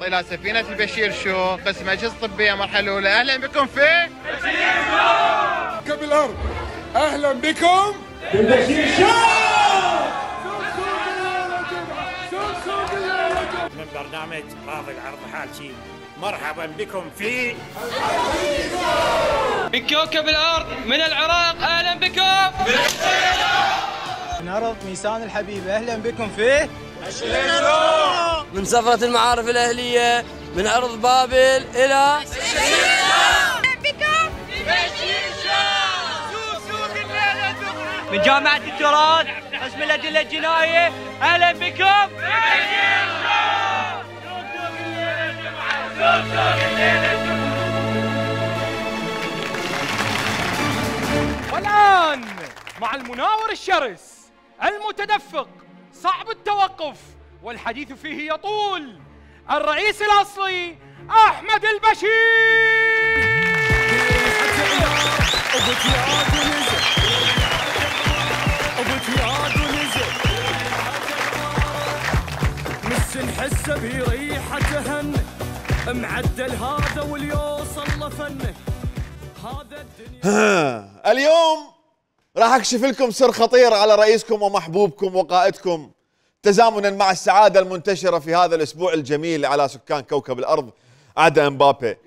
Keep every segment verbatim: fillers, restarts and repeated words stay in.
إلى سفينة البشير شو قسم أجهزة طبية مرحلة الأولى. أهلا بكم في بشير شو كوكب الأرض. أهلا بكم في بشير شو من برنامج راضي العرض حالشي. مرحبا بكم في من كوكب الأرض من العراق. أهلا بكم من أرض ميسان الحبيب. أهلا بكم في من سفرة المعارف الأهلية من أرض بابل إلى بكم من جامعة التراث قسم الأدلة الجنائية. أهلا بكم والآن مع المناور الشرس المتدفق صعب التوقف والحديث فيه يطول، الرئيس الأصلي أحمد البشير. مس نحسه بريحته هن معدل هذا واليوصل لفنه هذا الدنيا. اليوم راح اكشف لكم سر خطير على رئيسكم ومحبوبكم وقائدكم تزامنا مع السعادة المنتشرة في هذا الأسبوع الجميل على سكان كوكب الأرض عدا امبابي.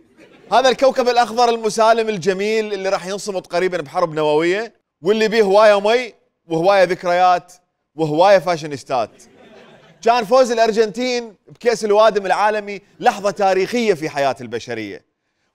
هذا الكوكب الأخضر المسالم الجميل اللي راح ينصمت قريبا بحرب نووية واللي بيه هواية مي وهواية ذكريات وهواية فاشينيستات. كان فوز الأرجنتين بكأس الوادم العالمي لحظة تاريخية في حياة البشرية،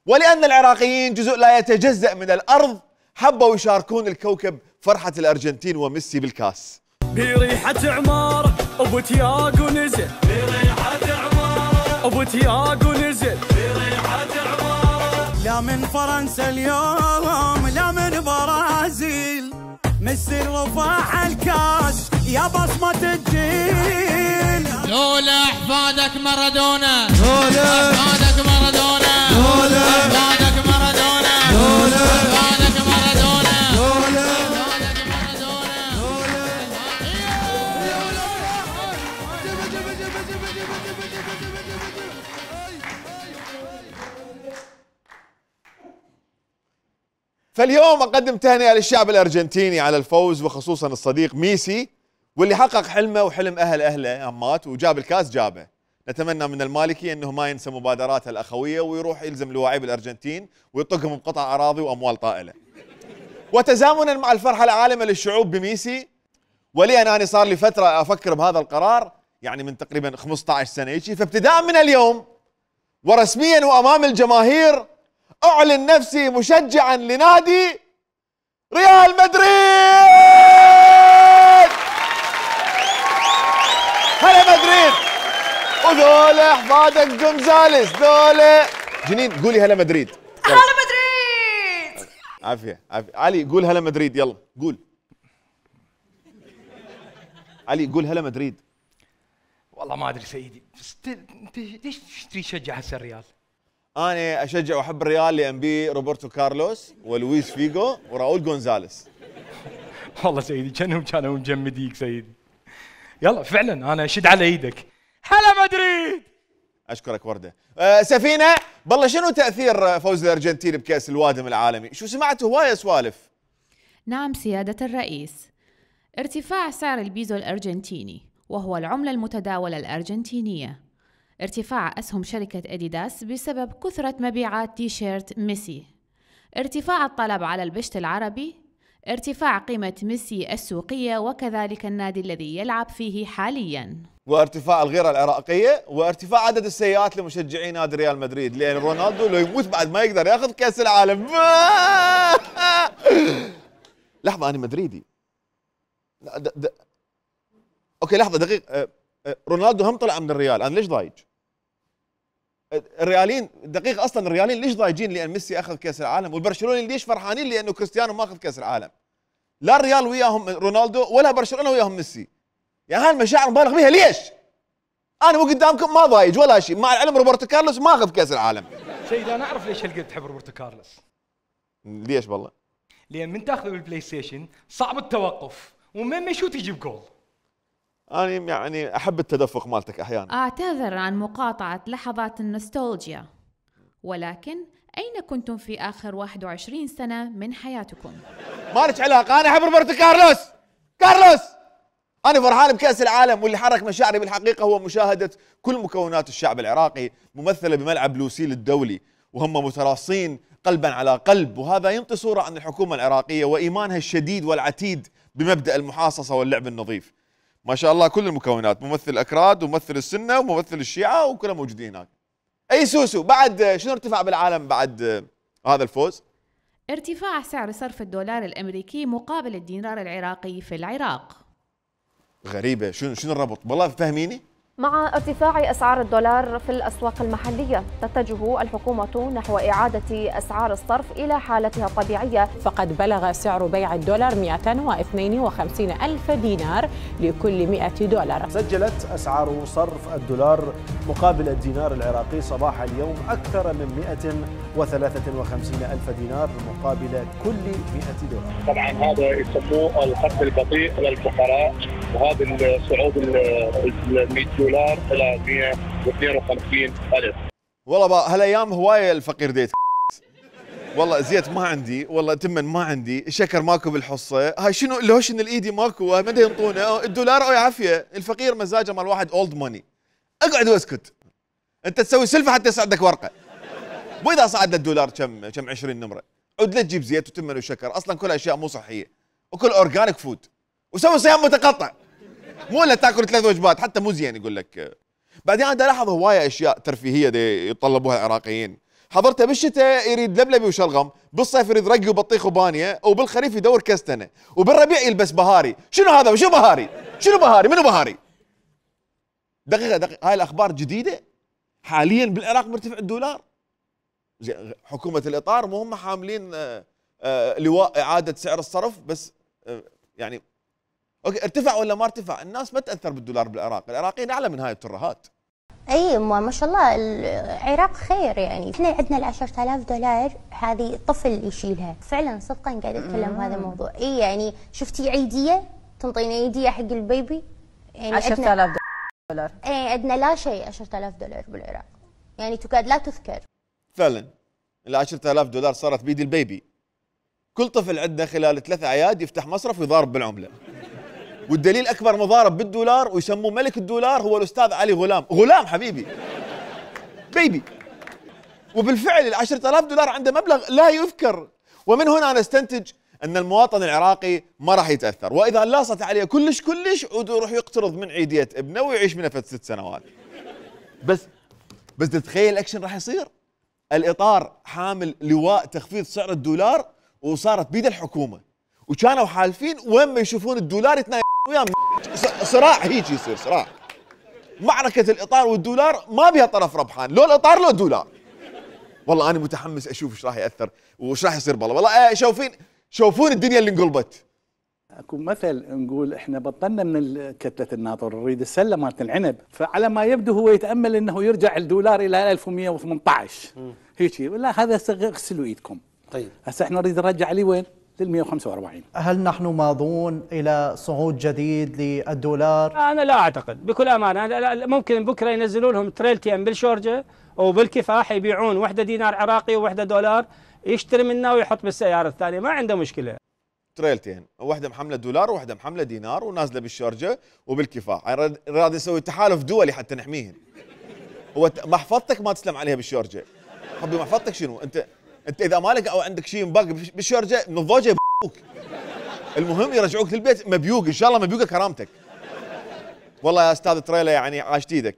ولأن العراقيين جزء لا يتجزأ من الأرض حبوا يشاركون الكوكب فرحة الأرجنتين وميسي بالكاس. بريحة عمارة أبو تياغو نزل، بريحة عمارة أبو تياغو نزل، بريحة عمارة. لا من فرنسا اليوم لا من برازيل، ميسي رفع الكاس يا بصمة الجيل. لولا أحفادك مارادونا، لولا أحفادك مارادونا، لولا أحفادك مارادونا، لولا أحفادك مارادونا، لولا أحفادك مارادونا. فاليوم أقدم تهنئة للشعب الأرجنتيني على الفوز وخصوصا الصديق ميسي واللي حقق حلمه وحلم أهل أهله أمات وجاب الكاس جابه. نتمنى من المالكي أنه ما ينسى مبادراته الأخوية ويروح يلزم لواعيب الأرجنتين ويطقهم بقطع أراضي وأموال طائلة. وتزامنا مع الفرحة العالمة للشعوب بميسي، ولي أنا صار لي فترة أفكر بهذا القرار يعني من تقريبا خمسة عشر سنة يجي، فابتداء من اليوم ورسميا وأمام الجماهير أعلن نفسي مشجعا لنادي ريال مدريد. هلا مدريد. وذولا احفادك جونزاليس ذولا جنين. قولي هلا مدريد. هلا مدريد. عافية عافية. علي قول هلا مدريد. يلا قول علي قول هلا مدريد. والله ما أدري سيدي، بس أنت ليش تشتري تشجع هسه الريال؟ أنا أشجع وأحب الريال لأن بيه روبرتو كارلوس ولويس فيجو وراؤول غونزاليس. والله سيدي كانهم كانوا مجمديك سيدي. يلا فعلا أنا أشد على إيدك. هلا مدريد. أشكرك وردة. أه سفينة، بالله شنو تأثير فوز الأرجنتين بكأس الوادم العالمي؟ شو سمعت هواية سوالف. نعم سيادة الرئيس، ارتفاع سعر البيزو الأرجنتيني وهو العملة المتداولة الأرجنتينية، ارتفاع أسهم شركة أديداس بسبب كثرة مبيعات تيشيرت ميسي، ارتفاع الطلب على البشت العربي، ارتفاع قيمة ميسي السوقية وكذلك النادي الذي يلعب فيه حالياً، وارتفاع الغيرة العراقية، وارتفاع عدد السيئات لمشجعي نادي ريال مدريد، لأن رونالدو لو يموت بعد ما يقدر ياخذ كأس العالم. لحظة أنا مدريدي. د... د... أوكي لحظة دقيقة، رونالدو هم طلع من الريال، أنا ليش ضايج؟ الريالين دقيقة أصلا الريالين ليش ضايجين لأن ميسي أخذ كأس العالم، والبرشلوني ليش فرحانين لأنه كريستيانو ما أخذ كأس العالم؟ لا الريال وياهم رونالدو ولا برشلونة وياهم ميسي. يعني هاي المشاعر مبالغ بها ليش؟ أنا مو قدامكم ما ضايج ولا شيء، مع العلم روبرتو كارلوس ما أخذ كأس العالم. سيدي أنا أعرف ليش هالقد تحب روبرتو كارلوس. ليش بالله؟ لأن من تاخذه بالبلاي ستيشن صعب التوقف ومن ما يشوت يجيب جول. انا يعني احب التدفق مالتك احيانا. أعتذر عن مقاطعة لحظات النوستالجيا، ولكن أين كنتم في آخر واحد وعشرين سنة من حياتكم؟ مالك علاقة، أنا أحب روبرتو كارلوس. كارلوس أنا فرحان بكأس العالم، واللي حرك مشاعري بالحقيقة هو مشاهدة كل مكونات الشعب العراقي ممثلة بملعب لوسيل الدولي، وهم متراصين قلبا على قلب، وهذا ينطي صورة عن الحكومة العراقية وإيمانها الشديد والعتيد بمبدأ المحاصصة واللعب النظيف. ما شاء الله كل المكونات، ممثل الأكراد وممثل السنة وممثل الشيعة وكلهم موجودين هناك. أي سوسو، بعد شنو ارتفع بالعالم بعد هذا الفوز؟ ارتفاع سعر صرف الدولار الأمريكي مقابل الدينار العراقي في العراق. غريبة، شنو شنو الربط؟ والله فهميني. مع ارتفاع أسعار الدولار في الأسواق المحلية، تتجه الحكومة نحو إعادة أسعار الصرف إلى حالتها الطبيعية. فقد بلغ سعر بيع الدولار مئتين واثنين وخمسين ألف دينار لكل مئة دولار. سجلت أسعار صرف الدولار مقابل الدينار العراقي صباح اليوم أكثر من مئة وثلاثة وخمسين ألف دينار مقابل كل مئة دولار. طبعا هذا يسموه الخط البطيء للفقراء، وهذا الصعود ال مئة دولار الى مئة واثنين وخمسين ألف. والله بقى هالايام هوايه الفقير ديت. والله زيت ما عندي، والله تمن ما عندي، شكر ماكو بالحصه، هاي شنو اللوشن الايدي ماكو، ما ينطونه الدولار او عافيه، الفقير مزاجه مال واحد اولد ماني. اقعد واسكت. انت تسوي سلفه حتى يصعدك ورقه. واذا صعد الدولار كم كم عشرين نمره، عد لا تجيب زيت وتمن وشكر، اصلا كل اشياء مو صحيه، وكل اورجانيك فود، وسوي صيام متقطع. مو الا تاكل ثلاث وجبات، حتى مو زين يقول لك. بعدين انا الاحظ هوايه اشياء ترفيهيه دي يتطلبوها العراقيين. حضرته بالشتاء يريد لبلبي وشلغم، بالصيف يريد رقي وبطيخ وبانيه، وبالخريف يدور كستنه، وبالربيع يلبس بهاري. شنو هذا وشو بهاري؟ شنو بهاري؟ منو بهاري؟ دقيقه دقيقه، هاي الاخبار جديده؟ حاليا بالعراق مرتفع الدولار. زين حكومه الاطار مو هم حاملين آآ آآ لواء اعاده سعر الصرف، بس يعني اوكي ارتفع ولا ما ارتفع؟ الناس ما تاثر بالدولار بالعراق، العراقيين اعلى من هاي الترهات. اي ما شاء الله العراق خير، يعني احنا عندنا ال عشرة آلاف دولار هذه طفل يشيلها، فعلا صدقا قاعد اتكلم بهذا الموضوع. اي يعني شفتي عيديه تنطينا عيديه حق البيبي، يعني عشرة آلاف دولار. اي عندنا لا شيء عشرة آلاف دولار بالعراق، يعني تكاد لا تذكر. فعلا ال عشرة آلاف دولار صارت بيد البيبي. كل طفل عندنا خلال ثلاث اعياد يفتح مصرف ويضارب بالعمله. والدليل اكبر مضارب بالدولار ويسموه ملك الدولار هو الاستاذ علي غلام. غلام حبيبي بيبي. وبالفعل ال عشرة آلاف دولار عنده مبلغ لا يذكر، ومن هنا نستنتج ان المواطن العراقي ما راح يتاثر، واذا لاصت عليه كلش كلش عود يروح يقترض من عيديه ابنه ويعيش منها ست سنوات. بس بس تتخيل الاكشن راح يصير؟ الاطار حامل لواء تخفيض سعر الدولار وصارت بيد الحكومه، وكانوا حالفين وين ما يشوفون الدولار يتنايم وياهم. صراع هيك يصير صراع. معركه الاطار والدولار ما بها طرف ربحان، لو الاطار لو الدولار. والله انا متحمس اشوف ايش راح ياثر وايش راح يصير. بالله والله شوفين شوفون الدنيا اللي انقلبت. اكو مثل نقول احنا بطلنا من كتله الناطر نريد السله مالت العنب، فعلى ما يبدو هو يتامل انه يرجع الدولار الى ألف ومئة وثمانية عشر هيك. لا هذا اغسلوا ايدكم. طيب هسه احنا نريد نرجع عليه وين؟ لل مئة وخمسة وأربعين. هل نحن ماضون الى صعود جديد للدولار؟ انا لا اعتقد بكل امانه. ممكن بكره ينزلوا لهم تريلتين بالشورجه وبالكفاح يبيعون وحده دينار عراقي ووحده دولار، يشتري منها ويحط بالسياره الثانيه، ما عنده مشكله. تريلتين، واحده محمله دولار وواحده محمله دينار ونازله بالشارجه وبالكفاح، راد يسوي تحالف دولي حتى نحميهن. هو محفظتك ما تسلم عليها بالشارجه. حبي محفظتك شنو؟ انت انت اذا مالك او عندك شيء مباق بالشارجه من الضوجه يبوك. المهم يرجعوك للبيت مبيوق، ان شاء الله مبيوقه كرامتك. والله يا استاذ تريلا يعني عاشت ايدك،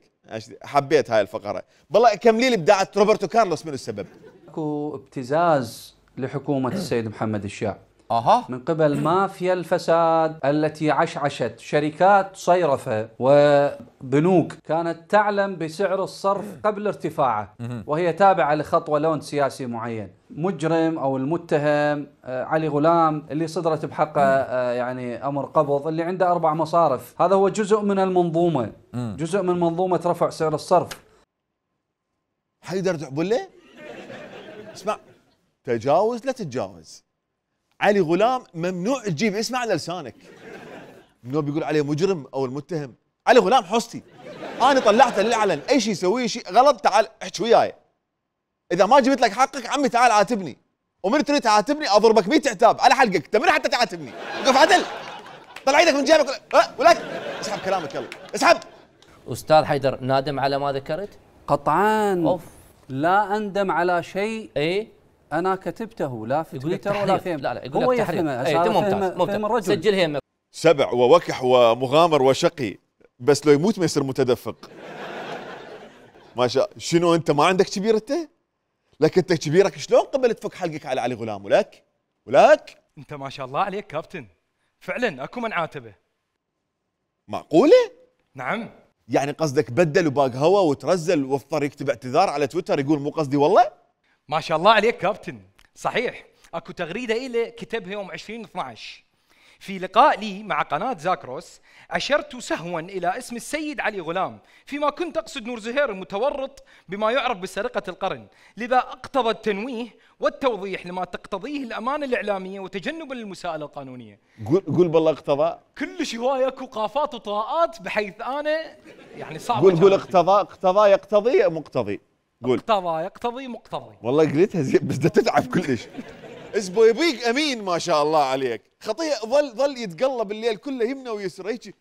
حبيت هاي الفقره. والله كملي لي ابداعه روبرتو كارلوس، من السبب؟ اكو ابتزاز لحكومه السيد محمد الشاع أها. من قبل مافيا الفساد التي عشعشت شركات صيرفة وبنوك كانت تعلم بسعر الصرف قبل ارتفاعه، وهي تابعة لخطوة لون سياسي معين. مجرم أو المتهم علي غلام اللي صدرت بحقه يعني أمر قبض، اللي عنده أربع مصارف، هذا هو جزء من المنظومة، جزء من منظومة رفع سعر الصرف. حيدر دعبله اسمع، تجاوز لا تتجاوز. علي غلام ممنوع تجيب اسمه على لسانك. النوب يقول عليه مجرم او المتهم. علي غلام حصتي انا طلعته للعلن، اي شيء يسويه شيء غلط تعال احكي وياي. اذا ما جبت لك حقك عمي تعال عاتبني، ومن تريد تعاتبني اضربك مية عتاب على حلقك، انت من حتى تعاتبني؟ وقف عدل، طلع ايدك من جيبك أه ولك اسحب كلامك يلا اسحب. استاذ حيدر نادم على ما ذكرت؟ قطعا. أوف. لا اندم على شيء اي انا كتبته لا في تويتر ولا في لا لا يقول هو لك تحريم. يفهمه. اي ممتاز ممتاز سجلها يمك. سبع ووكح ومغامر وشقي، بس لو يموت ما يصير متدفق. ما شاء. شنو انت ما عندك كبير انت؟ لك انت كبيرك شلون قبل تفك حلقك على علي غلام؟ ولك ولك انت ما شاء الله عليك كابتن، فعلا اكو من عاتبه. معقوله؟ نعم. يعني قصدك بدل وباق هوا وترزل واضطر يكتب اعتذار على تويتر يقول مو قصدي والله؟ ما شاء الله عليك كابتن. صحيح اكو تغريده إلي كتبها يوم عشرين اثنعش في لقاء لي مع قناه زاكروس، اشرت سهوا الى اسم السيد علي غلام فيما كنت اقصد نور زهير المتورط بما يعرف بسرقه القرن، لذا اقتضى التنويه والتوضيح لما تقتضيه الامانه الاعلاميه وتجنبا للمساءله القانونيه. قول قول بالله اقتضى. كلش هوايه اكو قافات وطاءات بحيث انا يعني صعب. قول قول اقتضى اقتضى يقتضي مقتضي. قول اقتضى يقتضي مقتضي. والله قريتها زين بس بدها تتعب كلش. اسبو يبيك امين ما شاء الله عليك، خطيه ظل ظل يتقلب الليل كله يمنى ويسرى هيك.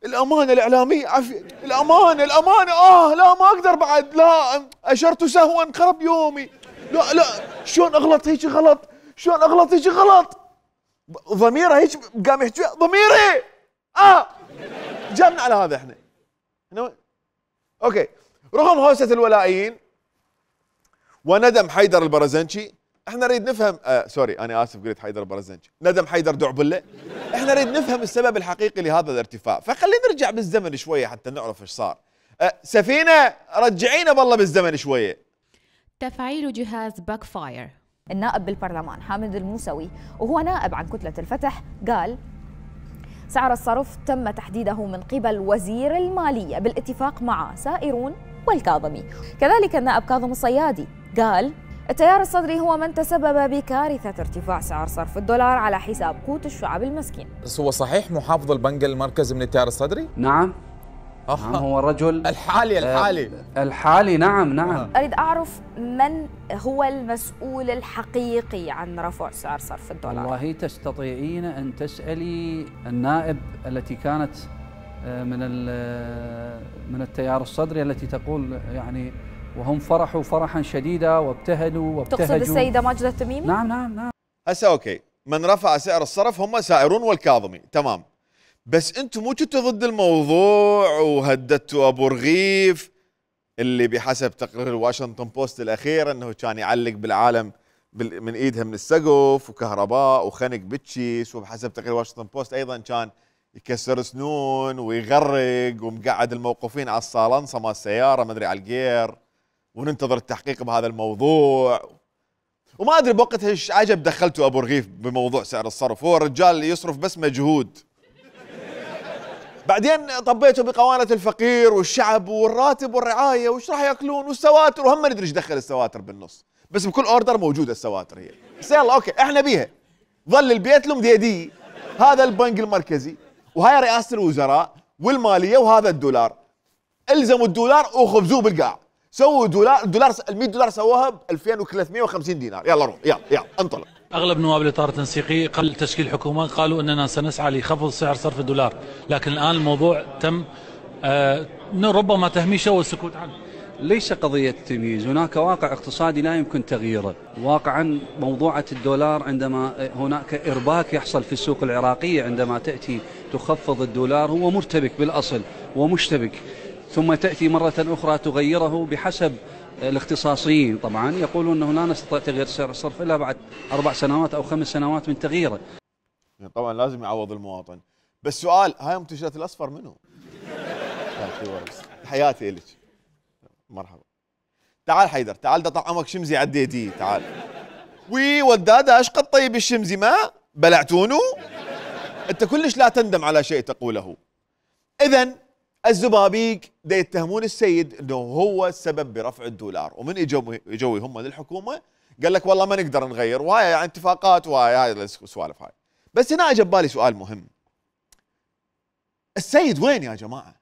الامانه الاعلاميه عافيه، الامانه الامانه اه لا ما اقدر بعد، لا اشرت سهوا خرب يومي، لا لا شلون اغلط هيك غلط، شلون اغلط هيك غلط. ضميره هيك قام يحكي ضميري اه جابنا على هذا احنا. اوكي رغم هوسه الولائيين وندم حيدر البرزنشي، احنا نريد نفهم آه سوري انا اسف قلت حيدر البرزنشي، ندم حيدر دعبله. احنا نريد نفهم السبب الحقيقي لهذا الارتفاع، فخلينا نرجع بالزمن شويه حتى نعرف ايش صار. آه سفينه رجعينا بالله بالزمن شويه. تفعيل جهاز باك فاير. النائب بالبرلمان حامد الموسوي وهو نائب عن كتلة الفتح قال سعر الصرف تم تحديده من قبل وزير المالية بالاتفاق مع سائرون والكاظمي. كذلك النائب كاظم الصيادي قال التيار الصدري هو من تسبب بكارثة ارتفاع سعر صرف الدولار على حساب قوت الشعب المسكين. بس هو صحيح محافظ البنك المركزي من التيار الصدري؟ نعم. آه. نعم هو الرجل الحالي الحالي آه الحالي نعم نعم. أريد أعرف من هو المسؤول الحقيقي عن رفع سعر صرف الدولار. والله تستطيعين أن تسألي النائب التي كانت من من التيار الصدري التي تقول يعني وهم فرحوا فرحا شديدا وابتهلوا وابتهجوا. تقصد السيدة ماجدة التميمي؟ نعم نعم نعم. هسه اوكي من رفع سعر الصرف هم سائرون والكاظمي تمام، بس انتم مو كنتوا ضد الموضوع وهددتوا ابو رغيف اللي بحسب تقرير الواشنطن بوست الاخير انه كان يعلق بالعالم من ايدها من السقف وكهرباء وخنق بتشيس، وبحسب تقرير واشنطن بوست ايضا كان يكسر سنون ويغرق ومقعد الموقوفين على الصالنصه مال السياره ما ادري على الجير، وننتظر التحقيق بهذا الموضوع. وما ادري بوقتها ايش عجب دخلتوا ابو رغيف بموضوع سعر الصرف، هو الرجال يصرف بس مجهود. بعدين طبيتوا بقوانة الفقير والشعب والراتب والرعايه وش راح ياكلون والسواتر، وهم ما ندري ايش دخل السواتر بالنص، بس بكل اوردر موجوده السواتر هي. بس يلا اوكي احنا بيها. ظل البيت لهم ديدي، هذا البنك المركزي وهاي رئاسه الوزراء والماليه وهذا الدولار. الزموا الدولار وخبزوه بالقاع. سووا دولار، الدولار ال مئة دولار سووها ب ألفين وثلاثمئة وخمسين دينار. يلا روح يلا يلا انطلق. اغلب نواب الاطار التنسيقي قبل تشكيل حكومه قالوا اننا سنسعى لخفض سعر صرف الدولار، لكن الان الموضوع تم آه ربما تهميشه والسكوت عنه. ليس قضية تمييز، هناك واقع اقتصادي لا يمكن تغييره. واقعا موضوعة الدولار عندما هناك إرباك يحصل في السوق العراقية عندما تأتي تخفض الدولار هو مرتبك بالأصل ومشتبك، ثم تأتي مرة أخرى تغيره بحسب الاختصاصيين طبعا يقولون أنه لا نستطيع تغيير سعر الصرف إلا بعد أربع سنوات أو خمس سنوات من تغييره. طبعا لازم يعوض المواطن. بس سؤال، هاي منتجات الأصفر منو؟ حياتي إلك. مرحبا. تعال حيدر، تعال دا طعمك شمزي عديتي، تعال. وي وداده ايش قد طيب الشمزي ما؟ بلعتونه؟ انت كلش لا تندم على شيء تقوله. اذا الزبابيك دا يتهمون السيد انه هو السبب برفع الدولار، ومن اجوا اجوا هم للحكومه قال لك والله ما نقدر نغير، وهاي يعني اتفاقات وهاي هاي السوالف هاي. بس هنا اجى ببالي سؤال مهم. السيد وين يا جماعه؟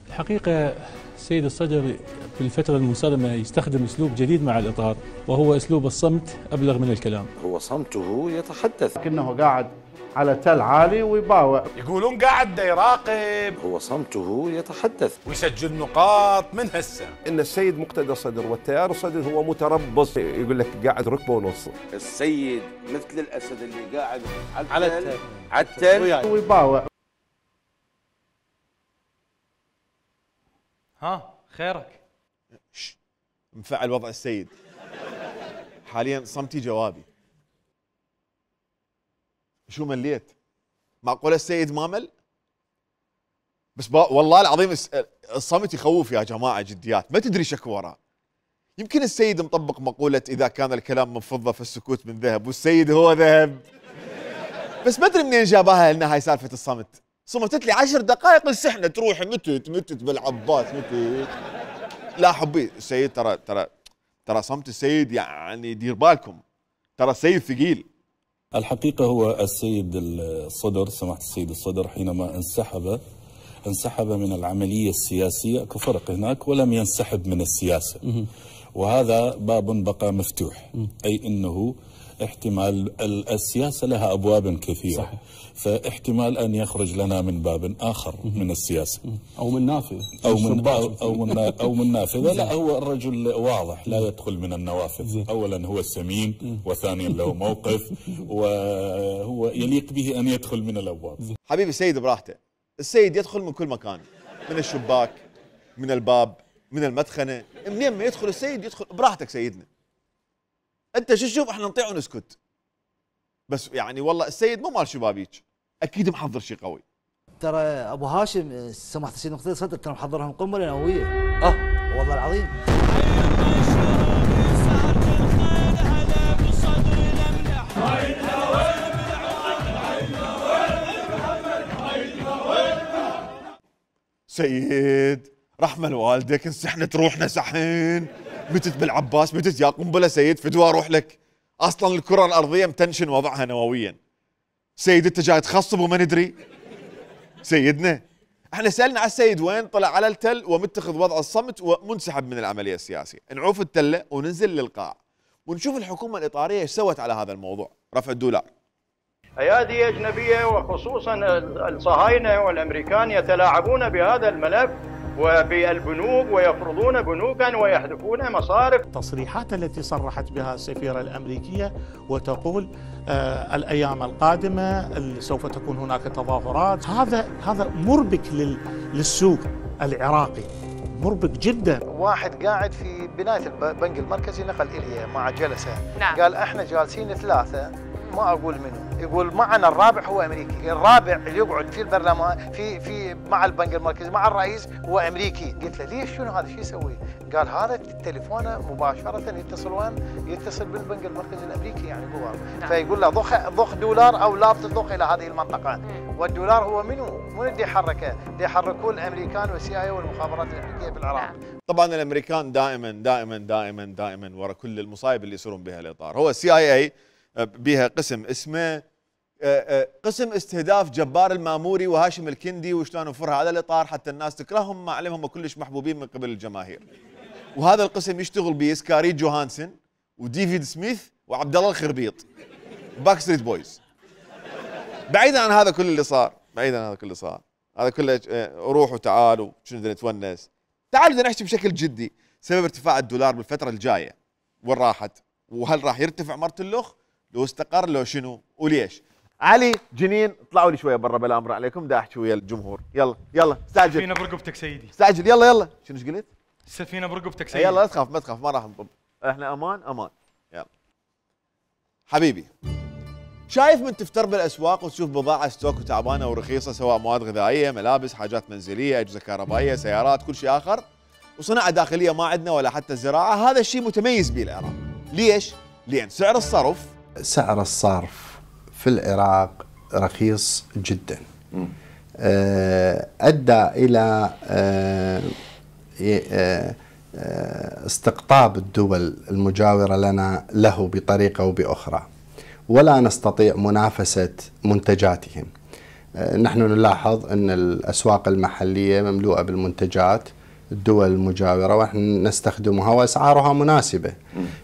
الحقيقة السيد الصدر في الفترة المنصرمة يستخدم أسلوب جديد مع الإطار، وهو أسلوب الصمت أبلغ من الكلام. هو صمته يتحدث. لكنه قاعد على تل عالي ويباوع. يقولون قاعد يراقب. هو صمته يتحدث ويسجل نقاط من هسه. ان السيد مقتدى الصدر والتيار الصدر هو متربص، يقول لك قاعد ركبه ونص. السيد مثل الاسد اللي قاعد على التل على التل ويباوع. ها خيرك؟ مفعل وضع السيد حاليا صمتي جوابي. شو مليت؟ معقوله السيد ما مل؟ بس والله العظيم الصمت يخوف يا جماعه جديات، ما تدري شكو وراه. يمكن السيد مطبق مقوله اذا كان الكلام من فضه فالسكوت من ذهب، والسيد هو ذهب. بس ما ادري منين جابها لنا هاي سالفه الصمت. صمتت لي عشر دقائق السحنه تروح متت متت بالعباس متت. لا حبي السيد ترى ترى ترى صمت السيد يعني دير بالكم، ترى السيد ثقيل. الحقيقة هو السيد الصدر، سماحة السيد الصدر حينما انسحب انسحب من العملية السياسية، اكو فرق هناك، ولم ينسحب من السياسة، وهذا باب بقى مفتوح، أي أنه احتمال السياسة لها أبواب كثيرة. صحيح. فاحتمال أن يخرج لنا من باب آخر من السياسة أو من نافذة أو من أو, أو من أو من نافذة. لا، هو الرجل واضح لا يدخل من النوافذ. أولا هو سمين، وثانيا له موقف، وهو يليق به أن يدخل من الأبواب. حبيبي السيد براحته، السيد يدخل من كل مكان، من الشباك، من الباب، من المدخنة، منين ما يدخل السيد يدخل براحتك سيدنا. انت شو تشوف احنا نطيع ونسكت. بس يعني والله السيد مو مال شبابيك، اكيد محضر شيء قوي. ترى ابو هاشم سماحه السيد مقتدى الصدر ترى محضرهم قنبله نوويه. اه والله العظيم. سيد رحمه لوالدك، انسحنت روحنا سحين، متت بالعباس، متت يا قنبله سيد، فدوى اروح لك. اصلا الكره الارضيه متنشن وضعها نوويا. سيد انت جاي تخصب وما ندري؟ سيدنا احنا سالنا على السيد وين، طلع على التل ومتخذ وضع الصمت ومنسحب من العمليه السياسيه. نعوف التله وننزل للقاع ونشوف الحكومه الاطاريه ايش سوت على هذا الموضوع، رفع الدولار. ايادي اجنبيه وخصوصا الصهاينه والامريكان يتلاعبون بهذا الملف وبالبنوك ويفرضون بنوكا ويحذفون مصارف. التصريحات التي صرحت بها السفيرة الأمريكية وتقول آه الأيام القادمة سوف تكون هناك تظاهرات، هذا هذا مربك للسوق العراقي، مربك جدا. واحد قاعد في بناية البنك المركزي نقل إلي مع جلسة. نعم. قال احنا جالسين ثلاثة، ما اقول منه، يقول معنا الرابع هو امريكي، الرابع اللي يقعد في البرلمان في في مع البنك المركزي مع الرئيس هو امريكي. قلت له ليش شنو هذا شو يسوي؟ قال هذا تليفونه مباشره يتصل وين؟ يتصل بالبنك المركزي الامريكي يعني جوا. نعم. فيقول له ضخ ضخ دولار او لا تضخ الى هذه المنطقه. مم. والدولار هو منو؟ من اللي يحركه؟ اللي يحركوه الامريكان والسي اي والمخابرات الامريكيه في العراق. نعم. طبعا الامريكان دائما دائما دائما دائما ورا كل المصايب اللي يصيرون بها الاطار. هو السي اي اي بها قسم اسمه قسم استهداف جبار الماموري وهاشم الكندي وشلون نفرها على الاطار حتى الناس تكرههم، مع علمهم كلش محبوبين من قبل الجماهير. وهذا القسم يشتغل به سكاري جوهانسن وديفيد سميث وعبد الله الخربيط باك ستريت بويز. بعيدا عن هذا كل اللي صار، بعيدا عن هذا كل اللي صار، هذا كله روح وتعالوا شنو بدنا نتونس. تعالوا بدنا نحكي بشكل جدي سبب ارتفاع الدولار بالفتره الجايه وين راحت، وهل راح يرتفع مرة اللخ لو استقر لو شنو وليش. علي جنين اطلعوا لي شويه برا بلا امر عليكم، دا احكي ويا الجمهور. يلا يلا استعجل. السفينه برقبتك سيدي، استعجل. يلا يلا. شنو ايش قلت؟ السفينه برقبتك سيدي. يلا لا تخاف ما تخاف، ما راح نطب، احنا امان امان. يلا حبيبي، شايف من تفتر بالاسواق وتشوف بضاعه ستوك وتعبانه ورخيصه، سواء مواد غذائيه، ملابس، حاجات منزليه، اجهزه كهربائيه، سيارات، كل شيء اخر، وصناعه داخليه ما عندنا ولا حتى الزراعه. هذا الشيء متميز به العراق. ليش؟ لان سعر الصرف سعر الصرف في العراق رخيص جدا، أدى إلى استقطاب الدول المجاورة لنا له بطريقة أو بأخرى، ولا نستطيع منافسة منتجاتهم. نحن نلاحظ أن الأسواق المحلية مملوءة بالمنتجات الدول المجاورة ونحن نستخدمها وأسعارها مناسبة.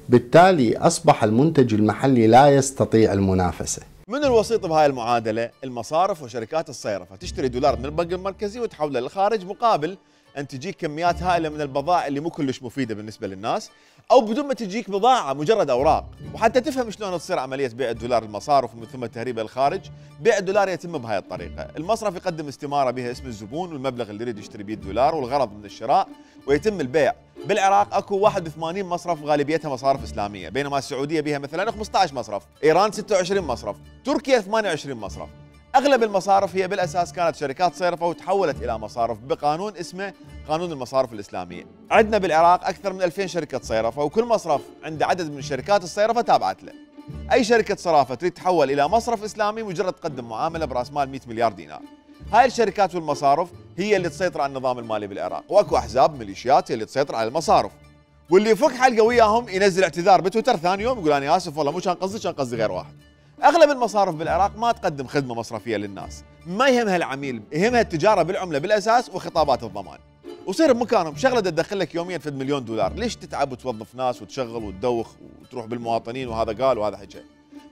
بالتالي أصبح المنتج المحلي لا يستطيع المنافسة. من الوسيط بهاي المعادلة؟ المصارف وشركات الصيرفة تشتري دولار من البنك المركزي وتحوله للخارج مقابل أن تجيك كميات هائلة من البضائع اللي مو كلش مفيدة بالنسبة للناس، أو بدون ما تجيك بضاعة مجرد أوراق. وحتى تفهم شلون تصير عملية بيع الدولار المصارف ومن ثم تهريبه للخارج، بيع الدولار يتم بهاي الطريقة. المصرف يقدم استمارة بها اسم الزبون والمبلغ اللي يريد يشتري به الدولار والغرض من الشراء، ويتم البيع. بالعراق اكو واحد وثمانين مصرف غالبيتها مصارف اسلاميه، بينما السعوديه بها مثلا خمسة عشر مصرف، ايران ستة وعشرين مصرف، تركيا ثمانية وعشرين مصرف. اغلب المصارف هي بالاساس كانت شركات صيرفه وتحولت الى مصارف بقانون اسمه قانون المصارف الاسلاميه. عندنا بالعراق اكثر من ألفين شركه صيرفه، وكل مصرف عنده عدد من شركات الصيرفه تابعت له. اي شركه صرافه تريد تحول الى مصرف اسلامي مجرد تقدم معامله براس مال مئة مليار دينار. هاي الشركات والمصارف هي اللي تسيطر على النظام المالي بالعراق، واكو احزاب ميليشيات هي اللي تسيطر على المصارف. واللي يفك حلقه وياهم ينزل اعتذار بتويتر ثاني يوم يقول انا اسف والله مو كان قصدي، كان قصدي غير واحد. اغلب المصارف بالعراق ما تقدم خدمه مصرفيه للناس، ما يهمها العميل، يهمها التجاره بالعمله بالاساس وخطابات الضمان. وصير بمكانهم شغله تدخل لك يوميا فد مليون دولار، ليش تتعب وتوظف ناس وتشغل وتدوخ وتروح بالمواطنين وهذا قال وهذا حكى.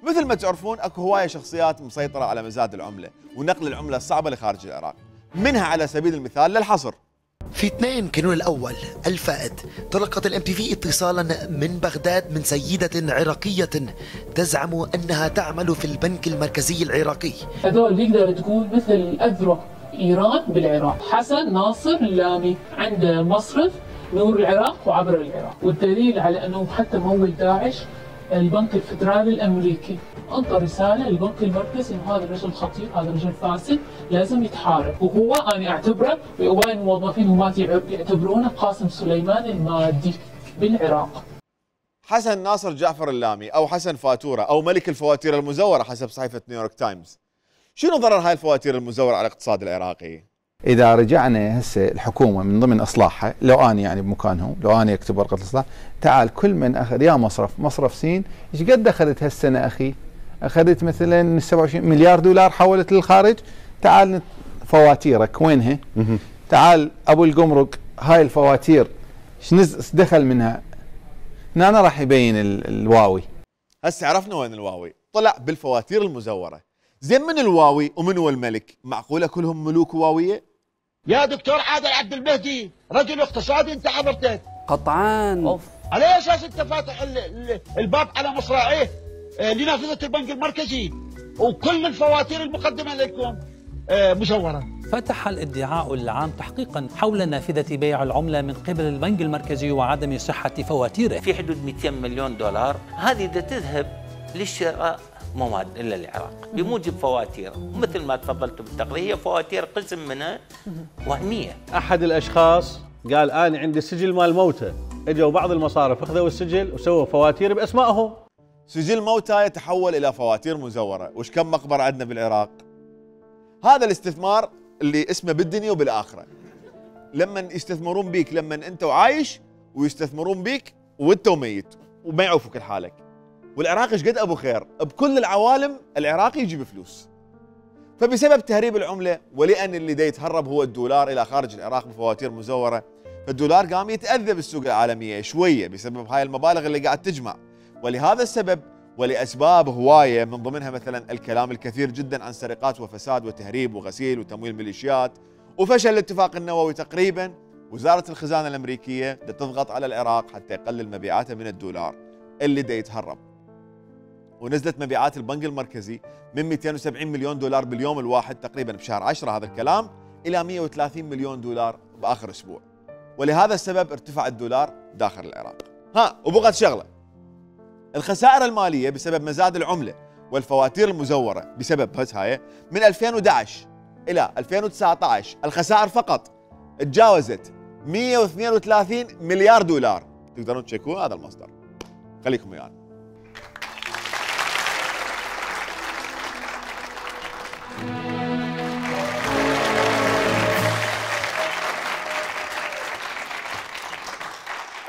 مثل ما تعرفون اكو هوايه شخصيات مسيطره على مزاد العمله ونقل العمله الصعبه لخارج العراق، منها على سبيل المثال للحصر. في اثنين كانون الأول الفائد تلقت الام تي في اتصالا من بغداد من سيدة عراقية تزعم أنها تعمل في البنك المركزي العراقي. هذول يقدر تقول مثل أذرع إيران بالعراق. حسن ناصر اللامي عنده مصرف نور العراق وعبر العراق، والدليل على أنه حتى مول داعش البنك الفدرالي الامريكي انطى رساله للبنك المركزي انه هذا الرجل خطير، هذا الرجل فاسد، لازم يتحارب. وهو انا اعتبره وهواي الموظفين وما يعتبرونه قاسم سليمان المادي بالعراق. حسن ناصر جعفر اللامي او حسن فاتوره او ملك الفواتير المزوره حسب صحيفه نيويورك تايمز. شنو ضرر هاي الفواتير المزوره على الاقتصاد العراقي؟ اذا رجعنا هسه الحكومه من ضمن اصلاحها، لو اني يعني بمكانهم، لو اني اكتب ورقه الاصلاح، تعال كل من اخذ يا مصرف، مصرف سين، ايش قد اخذت هالسنه اخي؟ اخذت مثلا سبعة وعشرين مليار دولار حولت للخارج، تعال فواتيرك وينها؟ تعال ابو القمرق هاي الفواتير ايش دخل منها؟ هنا راح يبين الواوي. هسه عرفنا وين الواوي، طلع بالفواتير المزوره. زين من الواوي ومن هو الملك؟ معقوله كلهم ملوك واويه؟ يا دكتور عادل عبد المهدي رجل اقتصادي انت حضرتك قطعان. على اي اساس انت فاتح الباب على مصراعيه لنافذه البنك المركزي وكل الفواتير المقدمه لكم مزوره؟ فتح الادعاء العام تحقيقا حول نافذه بيع العمله من قبل البنك المركزي وعدم صحه فواتيره. في حدود مئتين مليون دولار هذه تذهب للشراء مواد إلا العراق بموجب فواتير، مثل ما تفضلت بالتقرير هي فواتير قسم منها وهمية. أحد الأشخاص قال أنا عندي سجل مال موتى، اجوا بعض المصارف اخذوا السجل وسووا فواتير بأسمائهم. سجل موتى يتحول إلى فواتير مزورة، وش كم مقبرة عندنا بالعراق؟ هذا الاستثمار اللي اسمه بالدنيا وبالآخرة. لما يستثمرون بيك لما أنت وعايش، ويستثمرون بيك وأنت وميت وما يعوفك لحالك. والعراق ايش قد ابو خير، بكل العوالم العراقي يجيب فلوس. فبسبب تهريب العمله ولان اللي دا يتهرب هو الدولار الى خارج العراق بفواتير مزوره، فالدولار قام يتاذى بالسوق العالميه شويه بسبب هاي المبالغ اللي قاعد تجمع. ولهذا السبب ولاسباب هوايه من ضمنها مثلا الكلام الكثير جدا عن سرقات وفساد وتهريب وغسيل وتمويل ميليشيات وفشل الاتفاق النووي تقريبا، وزاره الخزانه الامريكيه دا تضغط على العراق حتى يقلل مبيعاته من الدولار اللي دا يتهرب. ونزلت مبيعات البنك المركزي من مئتين وسبعين مليون دولار باليوم الواحد تقريبا بشهر عشرة هذا الكلام الى مئة وثلاثين مليون دولار باخر اسبوع. ولهذا السبب ارتفع الدولار داخل العراق. ها وبقت شغله، الخسائر الماليه بسبب مزاد العمله والفواتير المزوره بسبب بس هاي من ألفين وأحد عشر الى ألفين وتسعة عشر الخسائر فقط تجاوزت مئة واثنين وثلاثين مليار دولار. تقدرون تشيكون هذا المصدر، خليكم ويانا. يعني.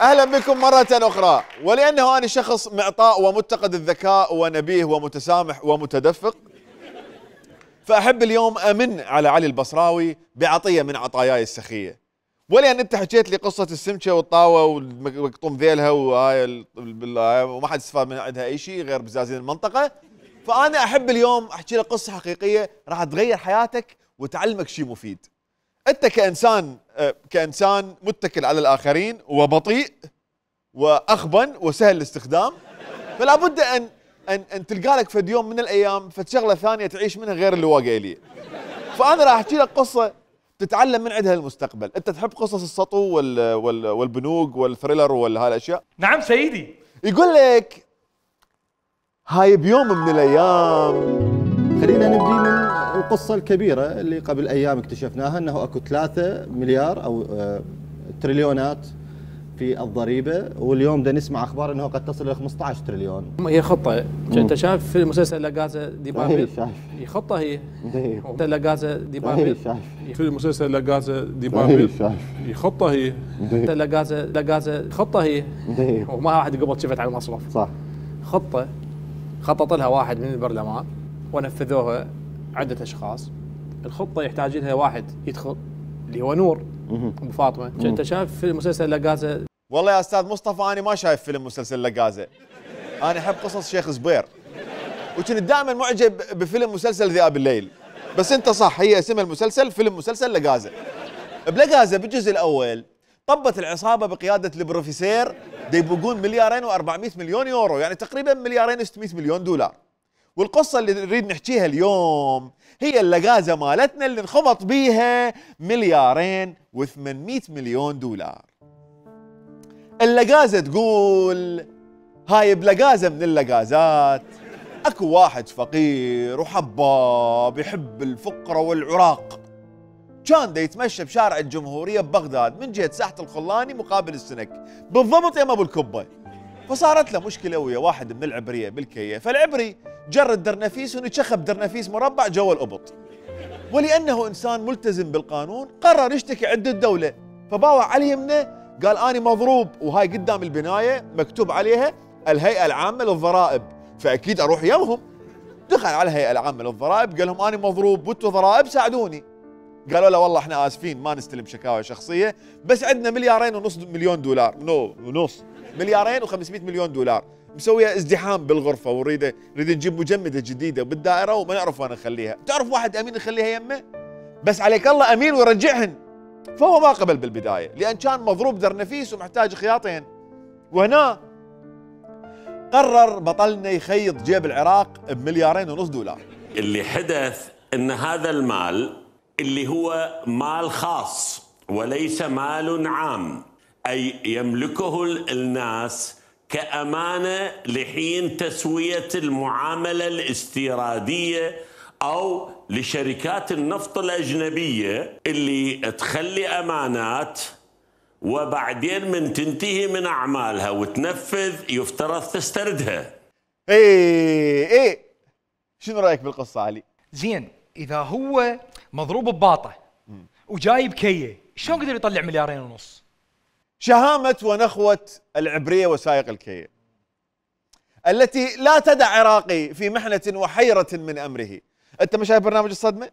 اهلا بكم مرة اخرى. ولانه انا شخص معطاء ومتقد الذكاء ونبيه ومتسامح ومتدفق، فأحب اليوم أمن على علي البصراوي بعطية من عطاياي السخية. ولأن أنت حكيت لي قصة السمكة والطاوة والمقطوم ذيلها وهاي وما حد استفاد من عندها أي شيء غير بزازين المنطقة، فأنا أحب اليوم أحكي لك قصة حقيقية راح تغير حياتك وتعلمك شيء مفيد. أنت كإنسان كإنسان متكل على الآخرين وبطيء وأخبن وسهل الاستخدام، فلا بد أن أن أن تلقى لك فد يوم من الأيام فد شغلة ثانية تعيش منها غير اللي واقع لي. فأنا راح أحكي لك قصة تتعلم من عندها المستقبل. أنت تحب قصص السطو وال وال والبنوك والثريلر وهالأشياء؟ نعم سيدي. يقول لك هاي بيوم من الأيام. خلينا نبدي من القصة الكبيرة اللي قبل أيام اكتشفناها، أنه أكو ثلاثة مليار أو تريليونات في الضريبة، واليوم دا نسمع أخبار أنه قد تصل إلى خمسة عشر تريليون. هي خطة. أنت شايف في مسلسل لا كازا دي بابل؟ شايف. هي خطة هي. لا كازا دي بابل. شايف. في مسلسل لا كازا دي بابل. هي خطة هي. لا كازا لا كازا خطة هي. وما واحد قبل شفت على المصرف. صح. خطة خطط لها واحد من البرلمان ونفذوها عدة أشخاص. الخطة يحتاج لها واحد يدخل اللي هو نور أبو فاطمة. أنت شايف في مسلسل لا كازا؟ والله يا أستاذ مصطفى أنا ما شايف فيلم مسلسل لا كازا. أنا أحب قصص شيخ زبير، وكنت دائما معجب بفيلم مسلسل ذئاب الليل. بس أنت صح، هي اسمها المسلسل فيلم مسلسل لا كازا. بلا كازا بالجزء الأول طبت العصابة بقيادة البروفيسير يبقون مليارين وأربعمئة مليون يورو، يعني تقريبا مليارين وستمئة مليون دولار. والقصة اللي نريد نحكيها اليوم هي اللقازة مالتنا اللي انخبط بيها مليارين وثمانمئة مليون دولار. اللقازة تقول هاي بلقازة من اللقازات اكو واحد فقير وحباب يحب الفقرة والعراق، كان دا يتمشى بشارع الجمهورية ببغداد من جهة ساحة الخلاني مقابل السنك بالضبط يم ابو الكبة. فصارت له مشكلة ويا واحد من العبرية بالكية، فالعبري جرد درنفيس ونشخب درنفيس مربع جوا القبط، ولأنه إنسان ملتزم بالقانون قرر يشتكي عند الدولة. فباوع على يمنه قال أنا مضروب، وهاي قدام البناية مكتوب عليها الهيئة العامة للضرائب، فأكيد أروح يمهم. دخل على الهيئة العامة للضرائب قال لهم أنا مضروب وانتوا ضرائب ساعدوني. قالوا له والله احنا آسفين ما نستلم شكاوى شخصية، بس عندنا مليارين ونص مليون دولار، نو ونص مليارين وخمسمئة مليون دولار مسوية ازدحام بالغرفة، ونريد نريد نجيب مجمدة جديدة بالدائرة وما نعرف وين نخليها. تعرف واحد أمين نخليها يمه؟ بس عليك الله أمين ويرجعهن. فهو ما قبل بالبداية لأن كان مضروب درنفيس ومحتاج خياطين. وهنا قرر بطلنا يخيط جيب العراق بمليارين ونص دولار. اللي حدث ان هذا المال اللي هو مال خاص وليس مال عام، أي يملكه الناس كأمانة لحين تسوية المعاملة الاستيرادية أو لشركات النفط الأجنبية اللي تخلي أمانات وبعدين من تنتهي من أعمالها وتنفذ يفترض تستردها. ايه ايه شنو رأيك بالقصة علي؟ زين، إذا هو مضروب بباطة وجايب كية شلون قدر يطلع مليارين ونص؟ شهامة ونخوة العبرية وسائق الكية التي لا تدع عراقي في محنة وحيرة من أمره. أنت ما شايف برنامج الصدمة؟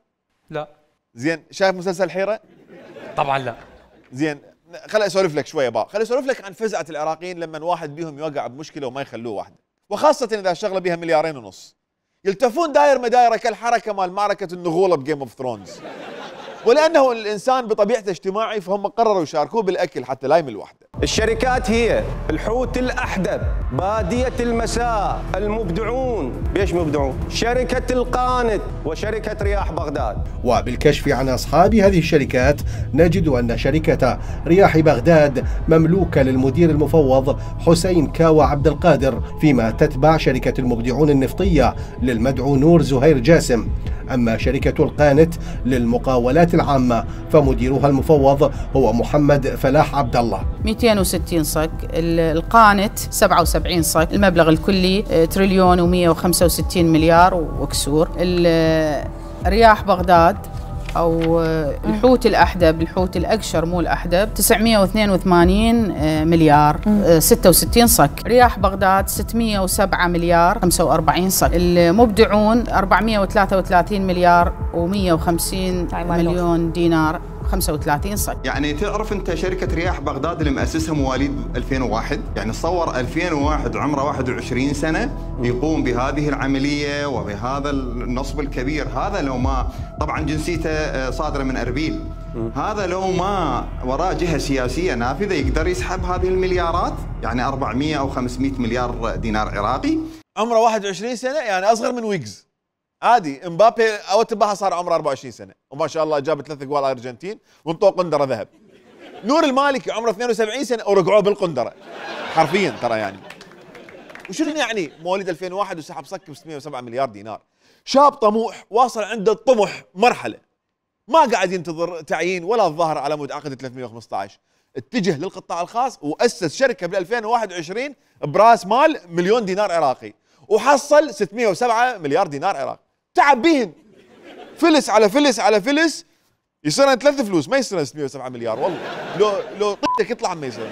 لا. زين، شايف مسلسل الحيرة؟ طبعا لا. زين، خليني أسولف لك شوية بقى، خليني أسولف لك عن فزعة العراقيين لما واحد بيهم يوقع بمشكلة وما يخلوه وحده، وخاصة إذا شغلة بها مليارين ونص. يلتفون داير مدايرة كالحركة مال معركة النغولة بجيم اوف ثرونز. ولأنه الإنسان بطبيعته اجتماعي فهم قرروا يشاركوه بالأكل حتى لا يمل وحده. الشركات هي الحوت الأحدب، بادية المساء، المبدعون، بيش مبدعون؟ شركة القانت وشركة رياح بغداد. وبالكشف عن أصحاب هذه الشركات نجد أن شركة رياح بغداد مملوكة للمدير المفوض حسين كاوى عبد القادر، فيما تتبع شركة المبدعون النفطية للمدعو نور زهير جاسم. أما شركة القانت للمقاولات العامة فمديرها المفوض هو محمد فلاح عبد الله. مئتين وستين صك، القانت سبعة وسبعين صك، المبلغ الكلي تريليون ومئة وخمسة وستين مليار وكسور. رياح بغداد أو الحوت الأحدب، الحوت الأقشر مو الأحدب تسعمئة واثنين وثمانين مليار ستة وستين صك. رياح بغداد ستمئة وسبعة مليار خمسة وأربعين صك. المبدعون أربعمئة وثلاثة وثلاثين مليار ومئة وخمسين مليون دينار خمسة وثلاثين صك. يعني تعرف انت شركه رياح بغداد اللي مؤسسها مواليد ألفين وواحد، يعني تصور ألفين وواحد عمره واحد وعشرين سنه يقوم بهذه العمليه وبهذا النصب الكبير. هذا لو ما طبعا جنسيته صادره من اربيل، هذا لو ما وراه جهه سياسيه نافذه يقدر يسحب هذه المليارات، يعني أربعمئة او خمسمئة مليار دينار عراقي. عمره واحد وعشرين سنه، يعني اصغر من ويجز عادي. امبابي او تباها صار عمره أربعة وعشرين سنه وما شاء الله جاب ثلاث اجوال ارجنتين وانطوه قندره ذهب. نور المالكي عمره اثنين وسبعين سنه ورقعوه بالقندره حرفيا ترى. يعني وشنو يعني مواليد ألفين وواحد وسحب صك ب ستمئة وسبعة مليار دينار. شاب طموح واصل عنده الطموح مرحله ما قاعد ينتظر تعيين ولا الظاهر على مود عقد ثلاثمئة وخمسة عشر، اتجه للقطاع الخاص واسس شركه بال ألفين وواحد وعشرين براس مال مليون دينار عراقي وحصل ستمئة وسبعة مليار دينار عراقي. تعب بيهن فلس على فلس على فلس، يصير ثلاث فلوس ما يصير ستمئة وسبعة مليار. والله لو لو طيتك يطلع ما يصير.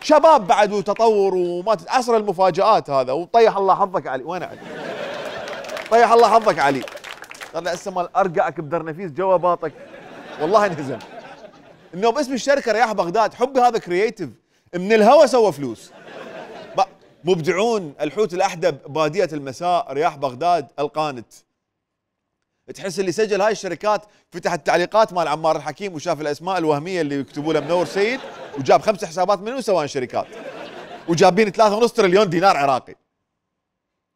شباب بعد وتطور وما عصر المفاجآت هذا. وطيح الله حظك علي. وين علي؟ طيح الله حظك علي. طلع هسه مال ارقعك بدرنفيس جوا باطك والله انهزم. انه باسم الشركه رياح بغداد حبي هذا كرييتيف من الهوا سوى فلوس. مبدعون، الحوت الأحدب، بادية المساء، رياح بغداد، القانت. تحس اللي سجل هاي الشركات فتح التعليقات مال عمار الحكيم وشاف الأسماء الوهمية اللي يكتبوا له منور سيد وجاب خمس حسابات منه وسوان شركات وجابين ثلاثة ونص تريليون دينار عراقي.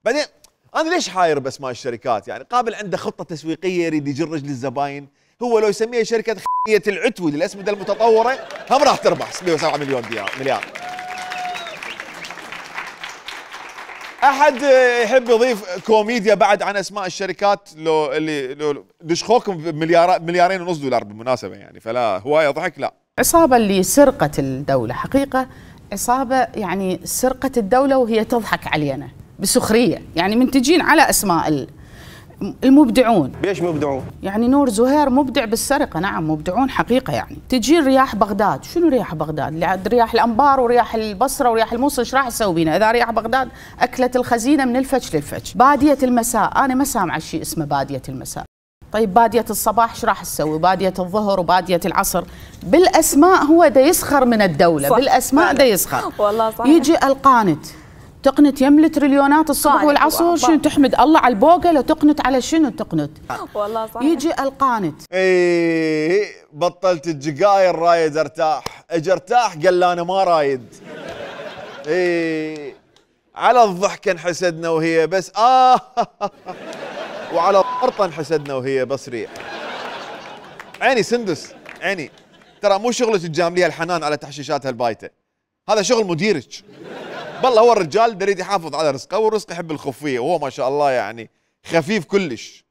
بعدين أنا ليش حاير بأسماء الشركات؟ يعني قابل عنده خطة تسويقية يريد يجر رجل الزباين، هو لو يسميها شركة خية العتوي للأسمدة المتطورة هم راح تربح ستمئة وسبعة مليون مليار. احد يحب يضيف كوميديا بعد عن اسماء الشركات لو اللي لو دشخوكم بمليار مليارين ونص دولار بالمناسبه يعني، فلا هوايه ضحك لا. عصابه اللي سرقت الدوله حقيقه عصابه، يعني سرقت الدوله وهي تضحك علينا بسخريه، يعني منتجين على اسماء المبدعون. بيش مبدعون؟ يعني نور زهير مبدع بالسرقه، نعم مبدعون حقيقه. يعني تجي رياح بغداد، شنو رياح بغداد؟ رياح الانبار ورياح البصره ورياح الموصل، ايش راح تسوي بينا؟ اذا رياح بغداد اكلت الخزينه من الفج للفج. باديه المساء، انا ما سامعه شيء اسمه باديه المساء. طيب باديه الصباح ايش راح تسوي؟ باديه الظهر وباديه العصر. بالاسماء هو دا يسخر من الدوله، صح. بالاسماء دا يسخر. والله صح. يجي القانت تقنت يملي تريليونات الصبح والعصر، شنو تحمد الله على البوقه؟ لو تقنت على شنو تقنت؟ والله صح. يجي القانت اي بطلت الجقاير رايد ارتاح، اجي ارتاح قال لا انا ما رايد. اي على الضحكه انحسدنا وهي بس اه وعلى الطرطه انحسدنا وهي بس ريح. عيني سندس عيني، ترى مو شغلة تجامليها الحنان على تحشيشاتها البايته، هذا شغل مديرك. بالله هو الرجال يريد يحافظ على رزقه والرزق يحب الخفيه، وهو ما شاء الله يعني خفيف كلش،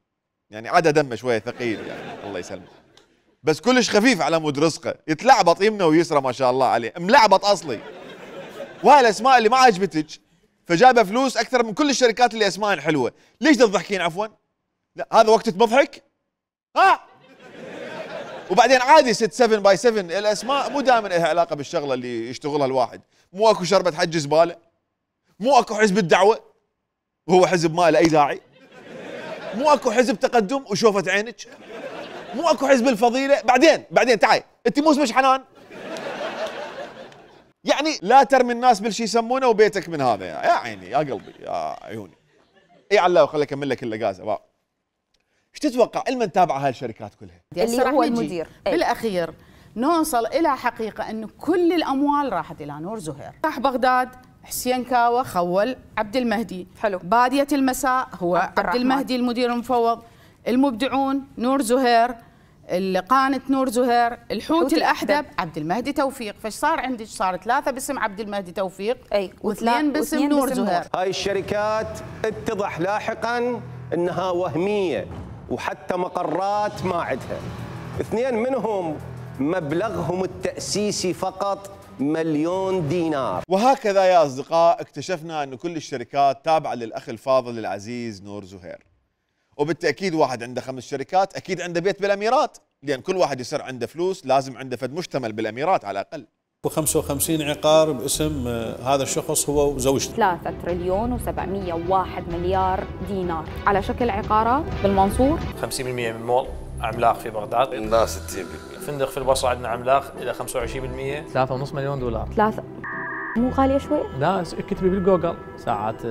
يعني عدا دمه شويه ثقيل يعني الله يسلمه، بس كلش خفيف على مود رزقه، يتلعبط يمنه ويسرى ما شاء الله عليه، ملعبط اصلي. وهاي الاسماء اللي ما عجبتك فجايبه فلوس اكثر من كل الشركات اللي اسمائها حلوه، ليش تضحكين عفوا؟ لا هذا وقت تضحك؟ ها؟ وبعدين عادي ست سبعة باي سبعة الاسماء مو دائما لها علاقه بالشغله اللي يشتغلها الواحد، مو اكو شربة حج زباله، مو اكو حزب الدعوه وهو حزب ما له اي داعي، مو اكو حزب تقدم وشوفت عينك، مو اكو حزب الفضيله، بعدين بعدين تعي انت مو اسمك حنان. يعني لا ترمي الناس بالشي يسمونه وبيتك من هذا يا عيني يا قلبي يا عيوني. اي على خليني اكمل لك اللقازه بقى. ايش تتوقع لما نتابع هاي الشركات كلها؟ اللي هو المدير بالاخير نوصل الى حقيقه انه كل الاموال راحت الى نور زهير. راح بغداد حسين كاوة خول عبد المهدي، حلو. باديه المساء هو عبد, عبد المهدي المدير المفوض، المبدعون نور زهير، القانت نور زهير، الحوت الاحدب عبد المهدي توفيق، فايش صار عندك؟ صار ثلاثه باسم عبد المهدي توفيق اي واثنين باسم نور زهير. هاي الشركات اتضح لاحقا انها وهميه وحتى مقرات ما عندها. اثنين منهم مبلغهم التأسيسي فقط مليون دينار. وهكذا يا أصدقاء اكتشفنا أن كل الشركات تابعة للأخ الفاضل العزيز نور زهير، وبالتاكيد واحد عنده خمس شركات اكيد عنده بيت بالاميرات، لان كل واحد يصير عنده فلوس لازم عنده فد مشتمل بالاميرات على الاقل. وخمسة وخمسين عقار باسم هذا الشخص هو وزوجته. ثلاثة تريليون وسبعمئة وواحد مليار دينار على شكل عقارات بالمنصور. خمسين بالمئة من مول عملاق في بغداد. لا ستين بالمئة. فندق في البصره عندنا عملاق الى خمسة وعشرين بالمئة. ثلاثة ونص مليون دولار. ثلاثة مو غالية شوي؟ لا كتبي بالجوجل ساعات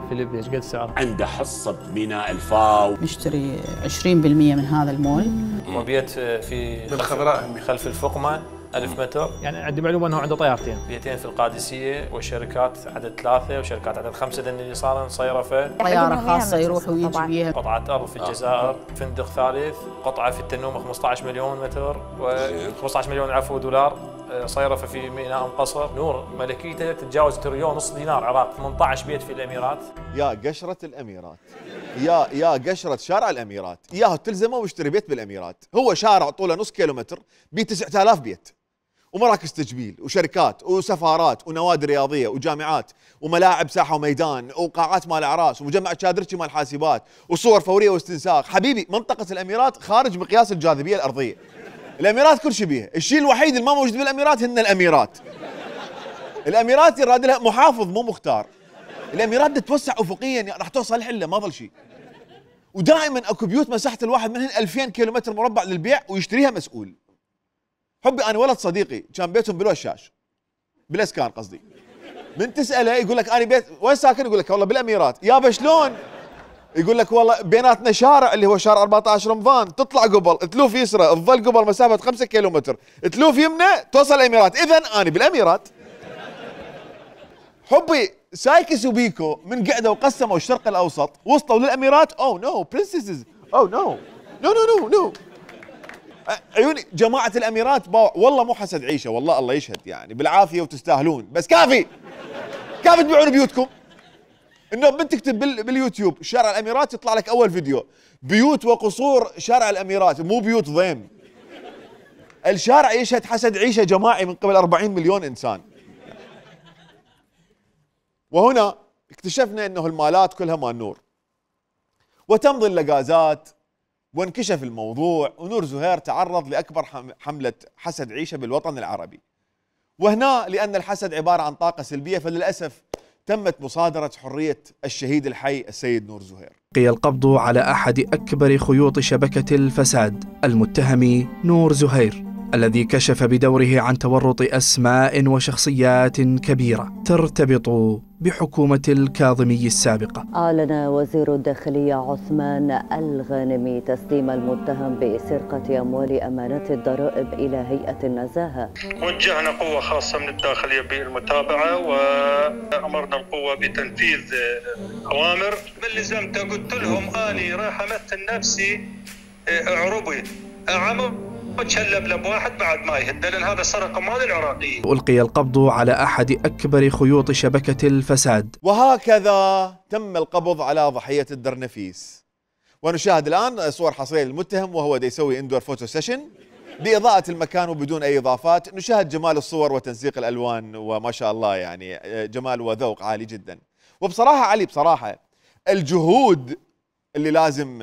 فيليب ايش قد السعر؟ عنده حصة بميناء الفاو. نشتري عشرين بالمئة من هذا المول. وبيت في بالخضراء خلف الفقمة ألف متر. يعني عندي معلومة أنه عنده طيارتين، بيتين في القادسية، والشركات عدد ثلاثة وشركات عدد خمسة لأن اللي صار مصيرفة. طيارة خاصة يروح ويجي بيها. قطعة أرض في الجزائر، فندق ثالث، قطعة في التنومة خمسة عشر مليون متر و خمسة عشر مليون عفوا دولار، صيرفة في ميناء أم قصر. نور ملكيته تتجاوز تريليون ونص دينار عراق، ثمانية عشر بيت في الأميرات. يا قشرة الأميرات، يا يا قشرة شارع الأميرات، ياهو تلزمه واشتري بيت بالأميرات. هو شارع طوله نص كيلومتر بيه تسعة آلاف بيت، ومراكز تجميل وشركات وسفارات ونوادي رياضيه وجامعات وملاعب ساحه وميدان وقاعات مال اعراس ومجمع تشادرتشي مال حاسبات وصور فوريه واستنساخ. حبيبي منطقه الاميرات خارج مقياس الجاذبيه الارضيه. الاميرات كل شيء بيها، الشيء الوحيد اللي ما موجود بالاميرات هن الاميرات. الاميرات يراد لها محافظ مو مختار. الاميرات تتوسع افقيا راح توصل حله ما ظل شيء. ودائما اكو بيوت مساحه الواحد منهن ألفين كيلومتر مربع للبيع ويشتريها مسؤول. حبي انا ولد صديقي كان بيتهم بالوشاش بالاسكان قصدي، من تساله يقول لك انا بيت وين ساكن؟ يقول لك والله بالاميرات. يابا شلون؟ يقول لك والله بيناتنا شارع اللي هو شارع أربعة عشر رمضان، تطلع قبل تلوف يسرى تظل قبل مسافه خمسة كيلومتر، تلوف يمنى توصل الاميرات. اذا انا بالاميرات. حبي سايكس وبيكو من قعدوا وقسموا الشرق الاوسط وصلوا للاميرات. اوه نو برنسسز، اوه نو نو نو نو نو عيوني جماعة الأميرات باو. والله مو حسد عيشة، والله الله يشهد يعني بالعافية وتستاهلون، بس كافي كافي تبيعون بيوتكم. إنه بتكتب باليوتيوب شارع الأميرات يطلع لك أول فيديو بيوت وقصور شارع الأميرات، مو بيوت ضيم. الشارع يشهد حسد عيشة جماعي من قبل أربعين مليون إنسان. وهنا اكتشفنا إنه المالات كلها مال نور، وتمضي اللقازات وانكشف الموضوع، ونور زهير تعرض لأكبر حملة حسد عيشة بالوطن العربي. وهنا لأن الحسد عبارة عن طاقة سلبية فللأسف تمت مصادرة حرية الشهيد الحي السيد نور زهير. بقي القبض على أحد أكبر خيوط شبكة الفساد، المتهم نور زهير، الذي كشف بدوره عن تورط أسماء وشخصيات كبيرة ترتبط بحكومة الكاظمي السابقة. أعلن وزير الداخلية عثمان الغانمي تسليم المتهم بسرقة أموال أمانات الضرائب إلى هيئة النزاهة. وجهنا قوة خاصة من الداخلية بالمتابعة وأمرنا القوة بتنفيذ أوامر. من لزمت قلت لهم أني راح أمثل نفسي عربي عمر وتشلب واحد بعد ما يهد، لأن هذا سرقة أموال العراقيين. ألقي القبض على أحد أكبر خيوط شبكة الفساد. وهكذا تم القبض على ضحية الدرنفيس. ونشاهد الآن صور حصرية للمتهم وهو دا يسوي اندور فوتو سيشن بإضاءة المكان وبدون أي إضافات. نشاهد جمال الصور وتنسيق الألوان وما شاء الله يعني جمال وذوق عالي جدا. وبصراحة علي بصراحة الجهود اللي لازم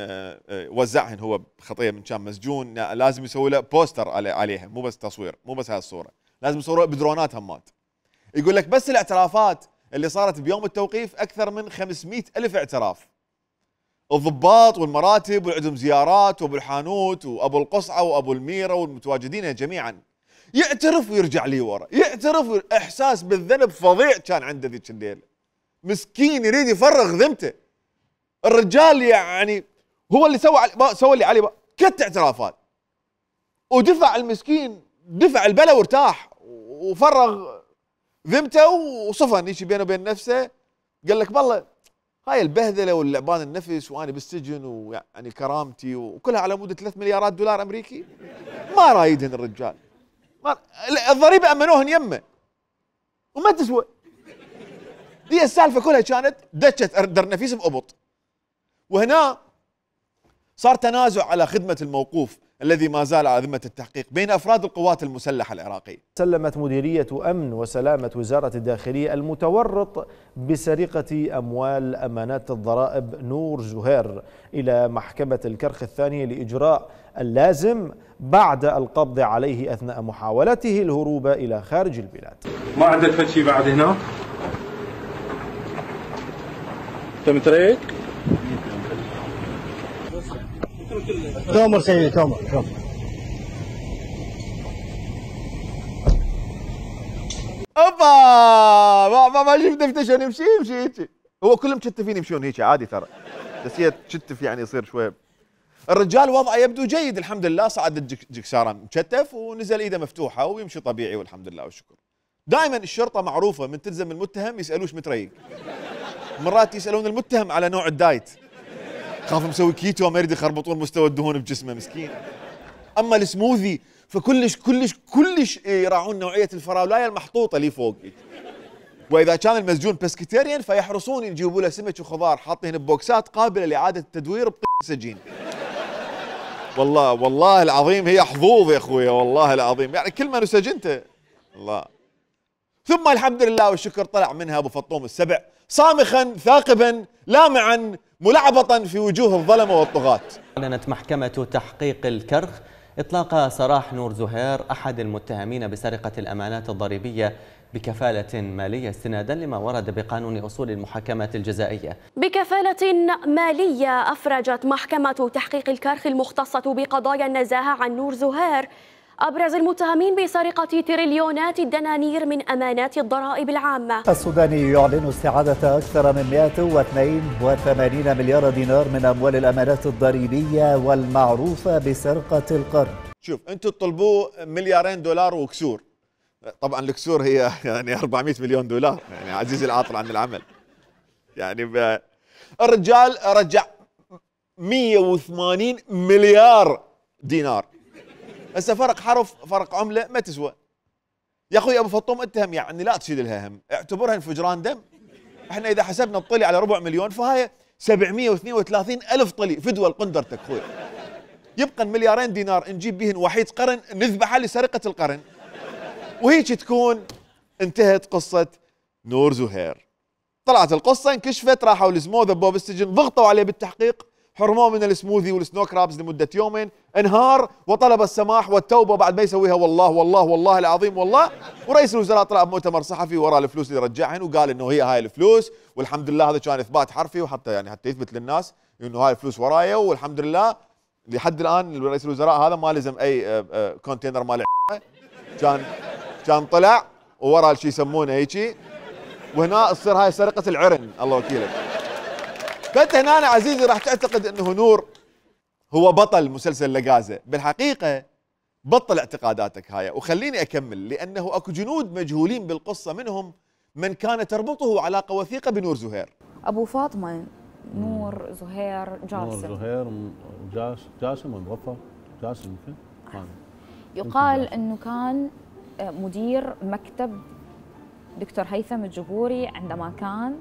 وزعهن هو بخطيه من كان مسجون، لازم يسوي له بوستر عليها، مو بس تصوير، مو بس هاي الصوره، لازم يصوروها بدرونات همات. يقول لك بس الاعترافات اللي صارت بيوم التوقيف اكثر من خمسمئة الف اعتراف. الضباط والمراتب والعندهم زيارات وابو الحانوت وابو القصعه وابو الميره والمتواجدين جميعا. يعترف ويرجع لي ورا، يعترف وير... احساس بالذنب فظيع كان عنده ذيك الليله. مسكين يريد يفرغ ذمته. الرجال يعني هو اللي سوى سوى اللي عليه كت اعترافات ودفع المسكين، دفع البلا وارتاح وفرغ ذمته وصفن يجي بينه وبين نفسه. قال لك والله هاي البهذله واللعبان النفس وانا بالسجن ويعني كرامتي وكلها على مود ثلاث مليارات دولار امريكي ما رايدهن الرجال. ما الضريبه امنوهن يمه وما تسوى. دي السالفه كلها كانت دشت درنفيس بقبط. وهنا صار تنازع على خدمة الموقوف الذي ما زال على ذمة التحقيق بين أفراد القوات المسلحة العراقية. سلمت مديرية أمن وسلامة وزارة الداخلية المتورط بسرقة أموال أمانات الضرائب نور زهير إلى محكمة الكرخ الثانية لإجراء اللازم بعد القبض عليه أثناء محاولته الهروب إلى خارج البلاد. ما عندك فد شيء بعد هنا؟ تم تريك؟ تومر سيدي تومر شوف. اوبا ما ما, ما شفت دفتشون يمشي يمشي هيك. هو كلهم مشتفين يمشون هيك عادي ترى. بس هي تشتف يعني يصير شوي. الرجال وضعه يبدو جيد الحمد لله، صعد الجكساره مشتف ونزل ايده مفتوحه ويمشي طبيعي والحمد لله والشكر. دائما الشرطه معروفه من تلزم المتهم يسالوش متريق. مرات يسالون المتهم على نوع الدايت. خاف مسوي كيتو ما يريد يخربطون مستوى الدهون بجسمه مسكين. اما السموذي فكلش كلش كلش يراعون نوعيه الفراولايه المحطوطه لي فوق. واذا كان المسجون بسكتيريان فيحرصون يجيبوا له سمك وخضار حاطين ببوكسات قابله لاعاده التدوير بطيق سجين. والله والله العظيم هي حظوظ يا اخويا والله العظيم، يعني كل ما نسجنته الله. ثم الحمد لله والشكر طلع منها ابو فطوم السبع صامخا ثاقبا لامعا ملعبطا في وجوه الظلمه والطغاة. أعلنت محكمة تحقيق الكرخ إطلاق سراح نور زهير أحد المتهمين بسرقة الأمانات الضريبية بكفالة مالية استنادا لما ورد بقانون أصول المحاكمة الجزائية. بكفالة مالية أفرجت محكمة تحقيق الكرخ المختصة بقضايا النزاهة عن نور زهير أبرز المتهمين بسرقة تريليونات الدنانير من أمانات الضرائب العامة. السوداني يعلن استعادة أكثر من مئة واثنين وثمانين مليار دينار من أموال الأمانات الضريبية والمعروفة بسرقة القرن. شوف أنتم تطلبوا مليارين دولار وكسور، طبعا الكسور هي يعني أربعمئة مليون دولار، يعني عزيزي العاطل عن العمل. يعني الرجال رجع مئة وثمانين مليار دينار. هسه فرق حرف فرق عمله ما تسوى. يا اخوي ابو فطوم اتهم يعني لا تشيل لها هم، اعتبرها انفجران دم. احنا اذا حسبنا الطلي على ربع مليون فهاي سبعمئة واثنين وثلاثين الف طلي فدوى لقندرتك اخوي. يبقى مليارين دينار نجيب بهن وحيد قرن نذبحها لسرقه القرن. وهيك تكون انتهت قصه نور زهير. طلعت القصه انكشفت، راحوا لزموه ذبوه بالسجن، ضغطوا عليه بالتحقيق، حرموه من السموذي والسنو كرابز لمده يومين، انهار وطلب السماح والتوبه بعد ما يسويها والله والله والله العظيم والله. ورئيس الوزراء طلع بمؤتمر صحفي وراء الفلوس اللي رجعهن وقال انه هي هاي الفلوس والحمد لله. هذا كان اثبات حرفي وحتى يعني حتى يثبت للناس انه هاي الفلوس ورايا والحمد لله. لحد الان رئيس الوزراء هذا ما لزم اي كونتينر مال كان كان طلع وورا شيء يسمونه هيجي، وهنا تصير هاي سرقه العرن الله وكيلك. فانت هنا أنا عزيزي راح تعتقد انه نور هو بطل مسلسل لغازة، بالحقيقة بطل اعتقاداتك هاي وخليني اكمل، لانه اكو جنود مجهولين بالقصة، منهم من كان تربطه علاقة وثيقة بنور زهير. ابو فاطمة نور زهير جاسم. نور زهير جاس جاسم موظف جاسم يمكن. يقال انه كان مدير مكتب دكتور هيثم الجبوري عندما كان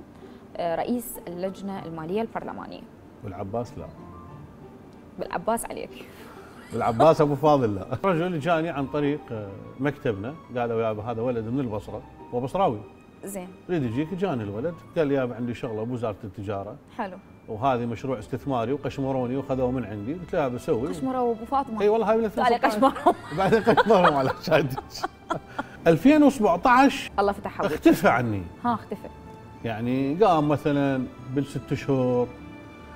رئيس اللجنة المالية البرلمانية. والعباس لا. بالعباس عليك. بالعباس ابو فاضل لا. رجل جاني عن طريق مكتبنا قال يابا هذا ولد من البصرة وبصراوي. زين. يريد يجيك، جاني الولد قال لي يابا عندي شغلة بوزارة التجارة. حلو. وهذه مشروع استثماري وقشمروني وخذوه من عندي، قلت له يابا سوي. قشمروا ابو فاطمة. اي والله هاي من قال قشمروا. بعدين قشمروا على شادي. ألفين وسبعطعش الله فتح ابوك. اختفى عني. ها اختفى. يعني قام مثلا بالست شهور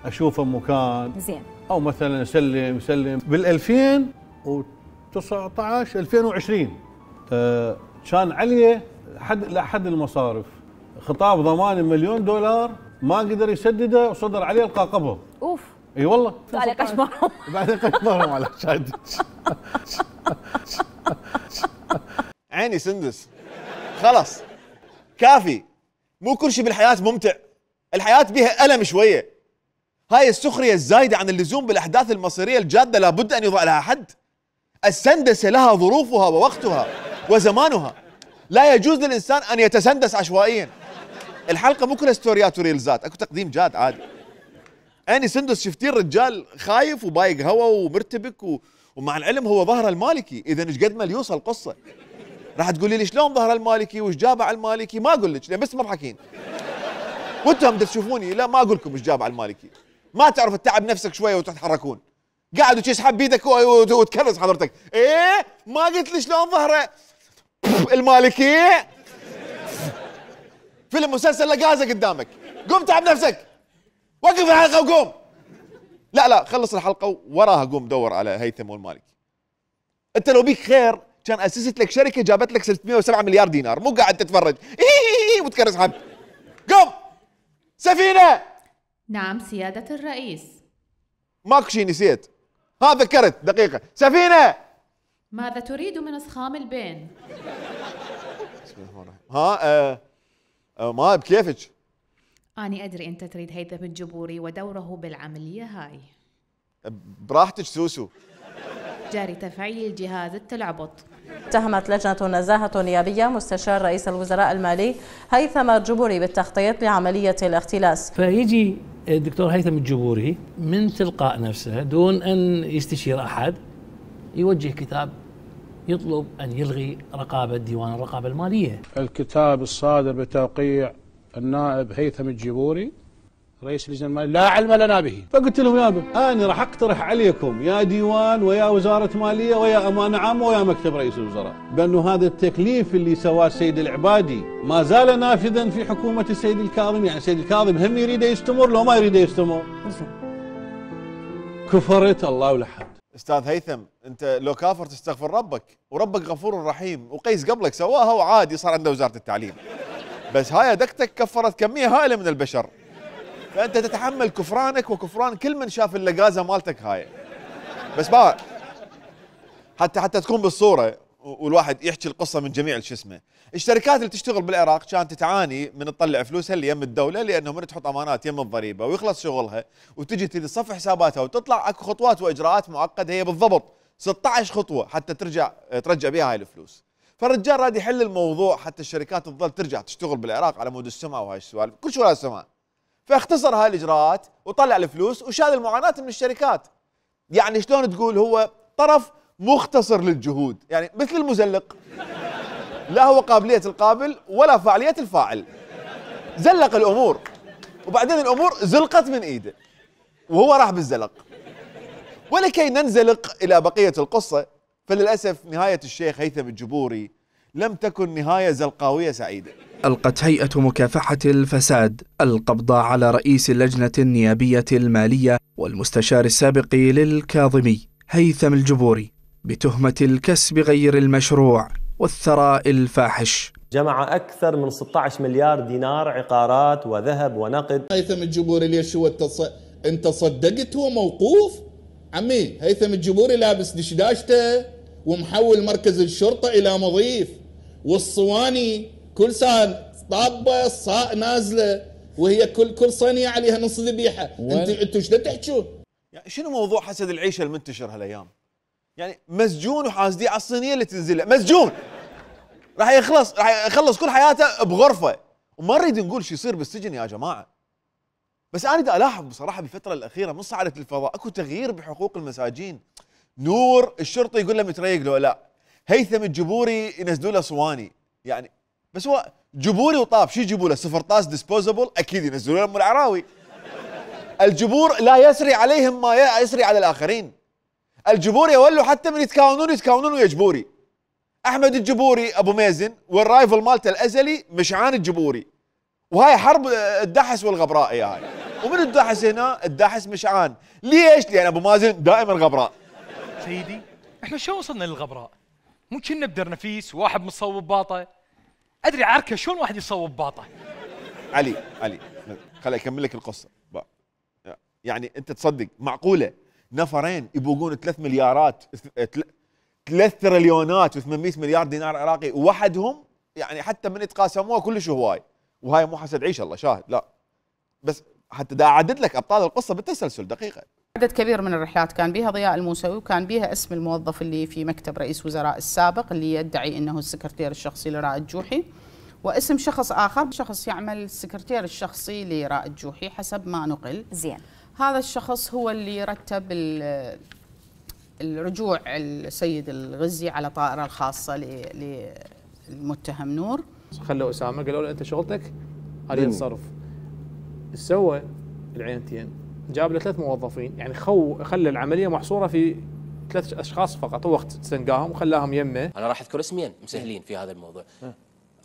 اشوفه مكان زين، او مثلا اسلم يسلم. بال ألفين وتسعطعش ألفين وعشرين آه كان عليه حد لاحد المصارف خطاب ضمان مليون دولار ما قدر يسدده وصدر عليه القى قبض. اوف. اي والله. قال قشمرهم. بعدين قشمرهم على شادي. عيني سندس خلاص كافي. مو كل شيء بالحياة ممتع، الحياة بيها ألم شوية. هاي السخرية الزايدة عن اللزوم بالأحداث المصيرية الجادة لابد أن يضع لها حد. السندسة لها ظروفها ووقتها وزمانها، لا يجوز للإنسان أن يتسندس عشوائيا. الحلقة مو كلها ستوريات وريلزات، أكو تقديم جاد عادي. أني سندس شفتين رجال خايف وبايق هوا ومرتبك و... ومع العلم هو ظهر المالكي، اذا ايش قد ما يوصل قصه. راح تقولي لي شلون ظهر المالكي وايش جابه على المالكي؟ ما اقول لك لان بس مضحكين. وانتم تشوفوني لا ما اقول لكم ايش جابه على المالكي. ما تعرف تتعب نفسك شويه وتتحركون. قاعد وتسحب بيدك وتكرس حضرتك. ايه ما قلت لي شلون ظهره المالكي؟ فيلم مسلسل لقازه قدامك. قوم تعب نفسك. وقف الحلقه وقوم. لا لا خلص الحلقه وراها قوم دور على هيثم والمالكي. انت لو بيك خير كان اسست لك شركه جابت لك ستمئة وسبعة مليار دينار، مو قاعد تتفرج وتكرس حد. قوم. سفينه. نعم سيادة الرئيس. ماكو شيء نسيت. ها ذكرت دقيقه. سفينه. ماذا تريد من اصخام البين؟ ها آه آه ما بكيفك. أنا أدري أنت تريد هيثم الجبوري ودوره بالعملية هاي. براحتك سوسو. جاري تفعيل جهاز التلعبط. اتهمت لجنة النزاهة النيابية مستشار رئيس الوزراء المالي هيثم الجبوري بالتخطيط لعملية الاختلاس. فيجي الدكتور هيثم الجبوري من تلقاء نفسه دون أن يستشير أحد يوجه كتاب يطلب أن يلغي رقابة ديوان الرقابة المالية. الكتاب الصادر بتوقيع النائب هيثم الجبوري رئيس اللجنه الماليه لا علم لنا به. فقلت لهم يابا انا راح اقترح عليكم يا ديوان ويا وزاره ماليه ويا امانه عامه ويا مكتب رئيس الوزراء بانه هذا التكليف اللي سواه السيد العبادي ما زال نافذا في حكومه السيد الكاظم، يعني السيد الكاظم هم يريد يستمر لو ما يريد يستمر. كفرت الله ولحد. استاذ هيثم انت لو كافر تستغفر ربك وربك غفور رحيم، وقيس قبلك سواها وعادي صار عنده وزاره التعليم. بس هاي دكتك كفرت كميه هائله من البشر. فانت تتحمل كفرانك وكفران كل من شاف اللقازه مالتك هاي. بس بقى حتى حتى تكون بالصوره والواحد يحكي القصه من جميع شو اسمه. الشركات اللي تشتغل بالعراق كانت تعاني من تطلع فلوسها اللي يم الدوله لانه من تحط امانات يم الضريبه ويخلص شغلها وتجي تصفي حساباتها وتطلع اكو خطوات واجراءات معقده هي بالضبط ستة عشر خطوه حتى ترجع ترجع بها هاي الفلوس. فالرجال راد يحل الموضوع حتى الشركات تظل ترجع تشتغل بالعراق على مود السمعه وهاي السوالف، كل شو السمعه. فاختصر هاي الاجراءات وطلع الفلوس وشال المعاناه من الشركات. يعني شلون تقول هو طرف مختصر للجهود، يعني مثل المزلق. لا هو قابليه القابل ولا فاعليه الفاعل. زلق الامور وبعدين الامور زلقت من ايده وهو راح بالزلق. ولكي ننزلق الى بقيه القصه فللاسف نهايه الشيخ هيثم الجبوري لم تكن نهايه زلقاويه سعيده. ألقت هيئة مكافحة الفساد القبض على رئيس اللجنة النيابية المالية والمستشار السابق للكاظمي هيثم الجبوري بتهمة الكسب غير المشروع والثراء الفاحش. جمع أكثر من ستة عشر مليار دينار عقارات وذهب ونقد. هيثم الجبوري ليش هو التص... انت صدقت هو موقوف؟ عمي هيثم الجبوري لابس دشداشته ومحول مركز الشرطة إلى مضيف، والصواني كل سنة طابة الصاء نازلة وهي كل كل صينية عليها نص ذبيحة. انت انتوا شلون تحكون؟ يعني شنو موضوع حسد العيشة المنتشر هالايام؟ يعني مسجون وحاسديه على الصينية اللي تنزله، مسجون راح يخلص راح يخلص كل حياته بغرفة، وما نريد نقول شو يصير بالسجن يا جماعة. بس انا دا الاحظ بصراحة بالفترة الأخيرة من صعدة الفضاء اكو تغيير بحقوق المساجين. نور الشرطي يقول له متريق له لا، هيثم الجبوري ينزلوا له صواني، يعني بس هو جبوري وطاب شو يجيبوا له؟ صفر طاس ديسبوزبل اكيد ينزلوا له ام العراوي. الجبور لا يسري عليهم ما يسري على الاخرين. الجبور يولوا حتى من يتكاونون يتكاونون ويا جبوري. احمد الجبوري ابو مازن والرايفل مالته الازلي مشعان الجبوري. وهاي حرب الدحس والغبراء يا هاي. ومن الدحس هنا الدحس مشعان. ليش؟ لان ابو مازن دائما غبراء. سيدي احنا شو وصلنا للغبراء؟ مو كنا بدرنفيس وواحد مصوب باطه. ادري عركه شلون واحد يصوب باطه. علي علي خليني اكمل لك القصه. يعني انت تصدق معقوله نفرين يبوقون ثلاث مليارات ثلاث تريليونات وثمانمئة مليار دينار عراقي وحدهم؟ يعني حتى من يتقاسموها كلش هواي. وهاي مو حسد عيش الله شاهد، لا بس حتى دا اعدد لك ابطال القصه بالتسلسل دقيقه. عدد كبير من الرحلات كان بها ضياء الموسوي وكان بها اسم الموظف اللي في مكتب رئيس وزراء السابق اللي يدعي انه السكرتير الشخصي لرائد جوحي، واسم شخص اخر شخص يعمل السكرتير الشخصي لرائد جوحي حسب ما نقل. زين. هذا الشخص هو اللي رتب الرجوع السيد الغزي على طائرة الخاصة للمتهم نور. خلوا أسامة قالوا له أنت شغلتك هذه التصرف. سوى العينتين، جاب له ثلاث موظفين، يعني خو خلى العملية محصورة في ثلاث أشخاص فقط، هو استنقاهم وخلاهم يمه. أنا راح أذكر اسمين مسهلين في هذا الموضوع.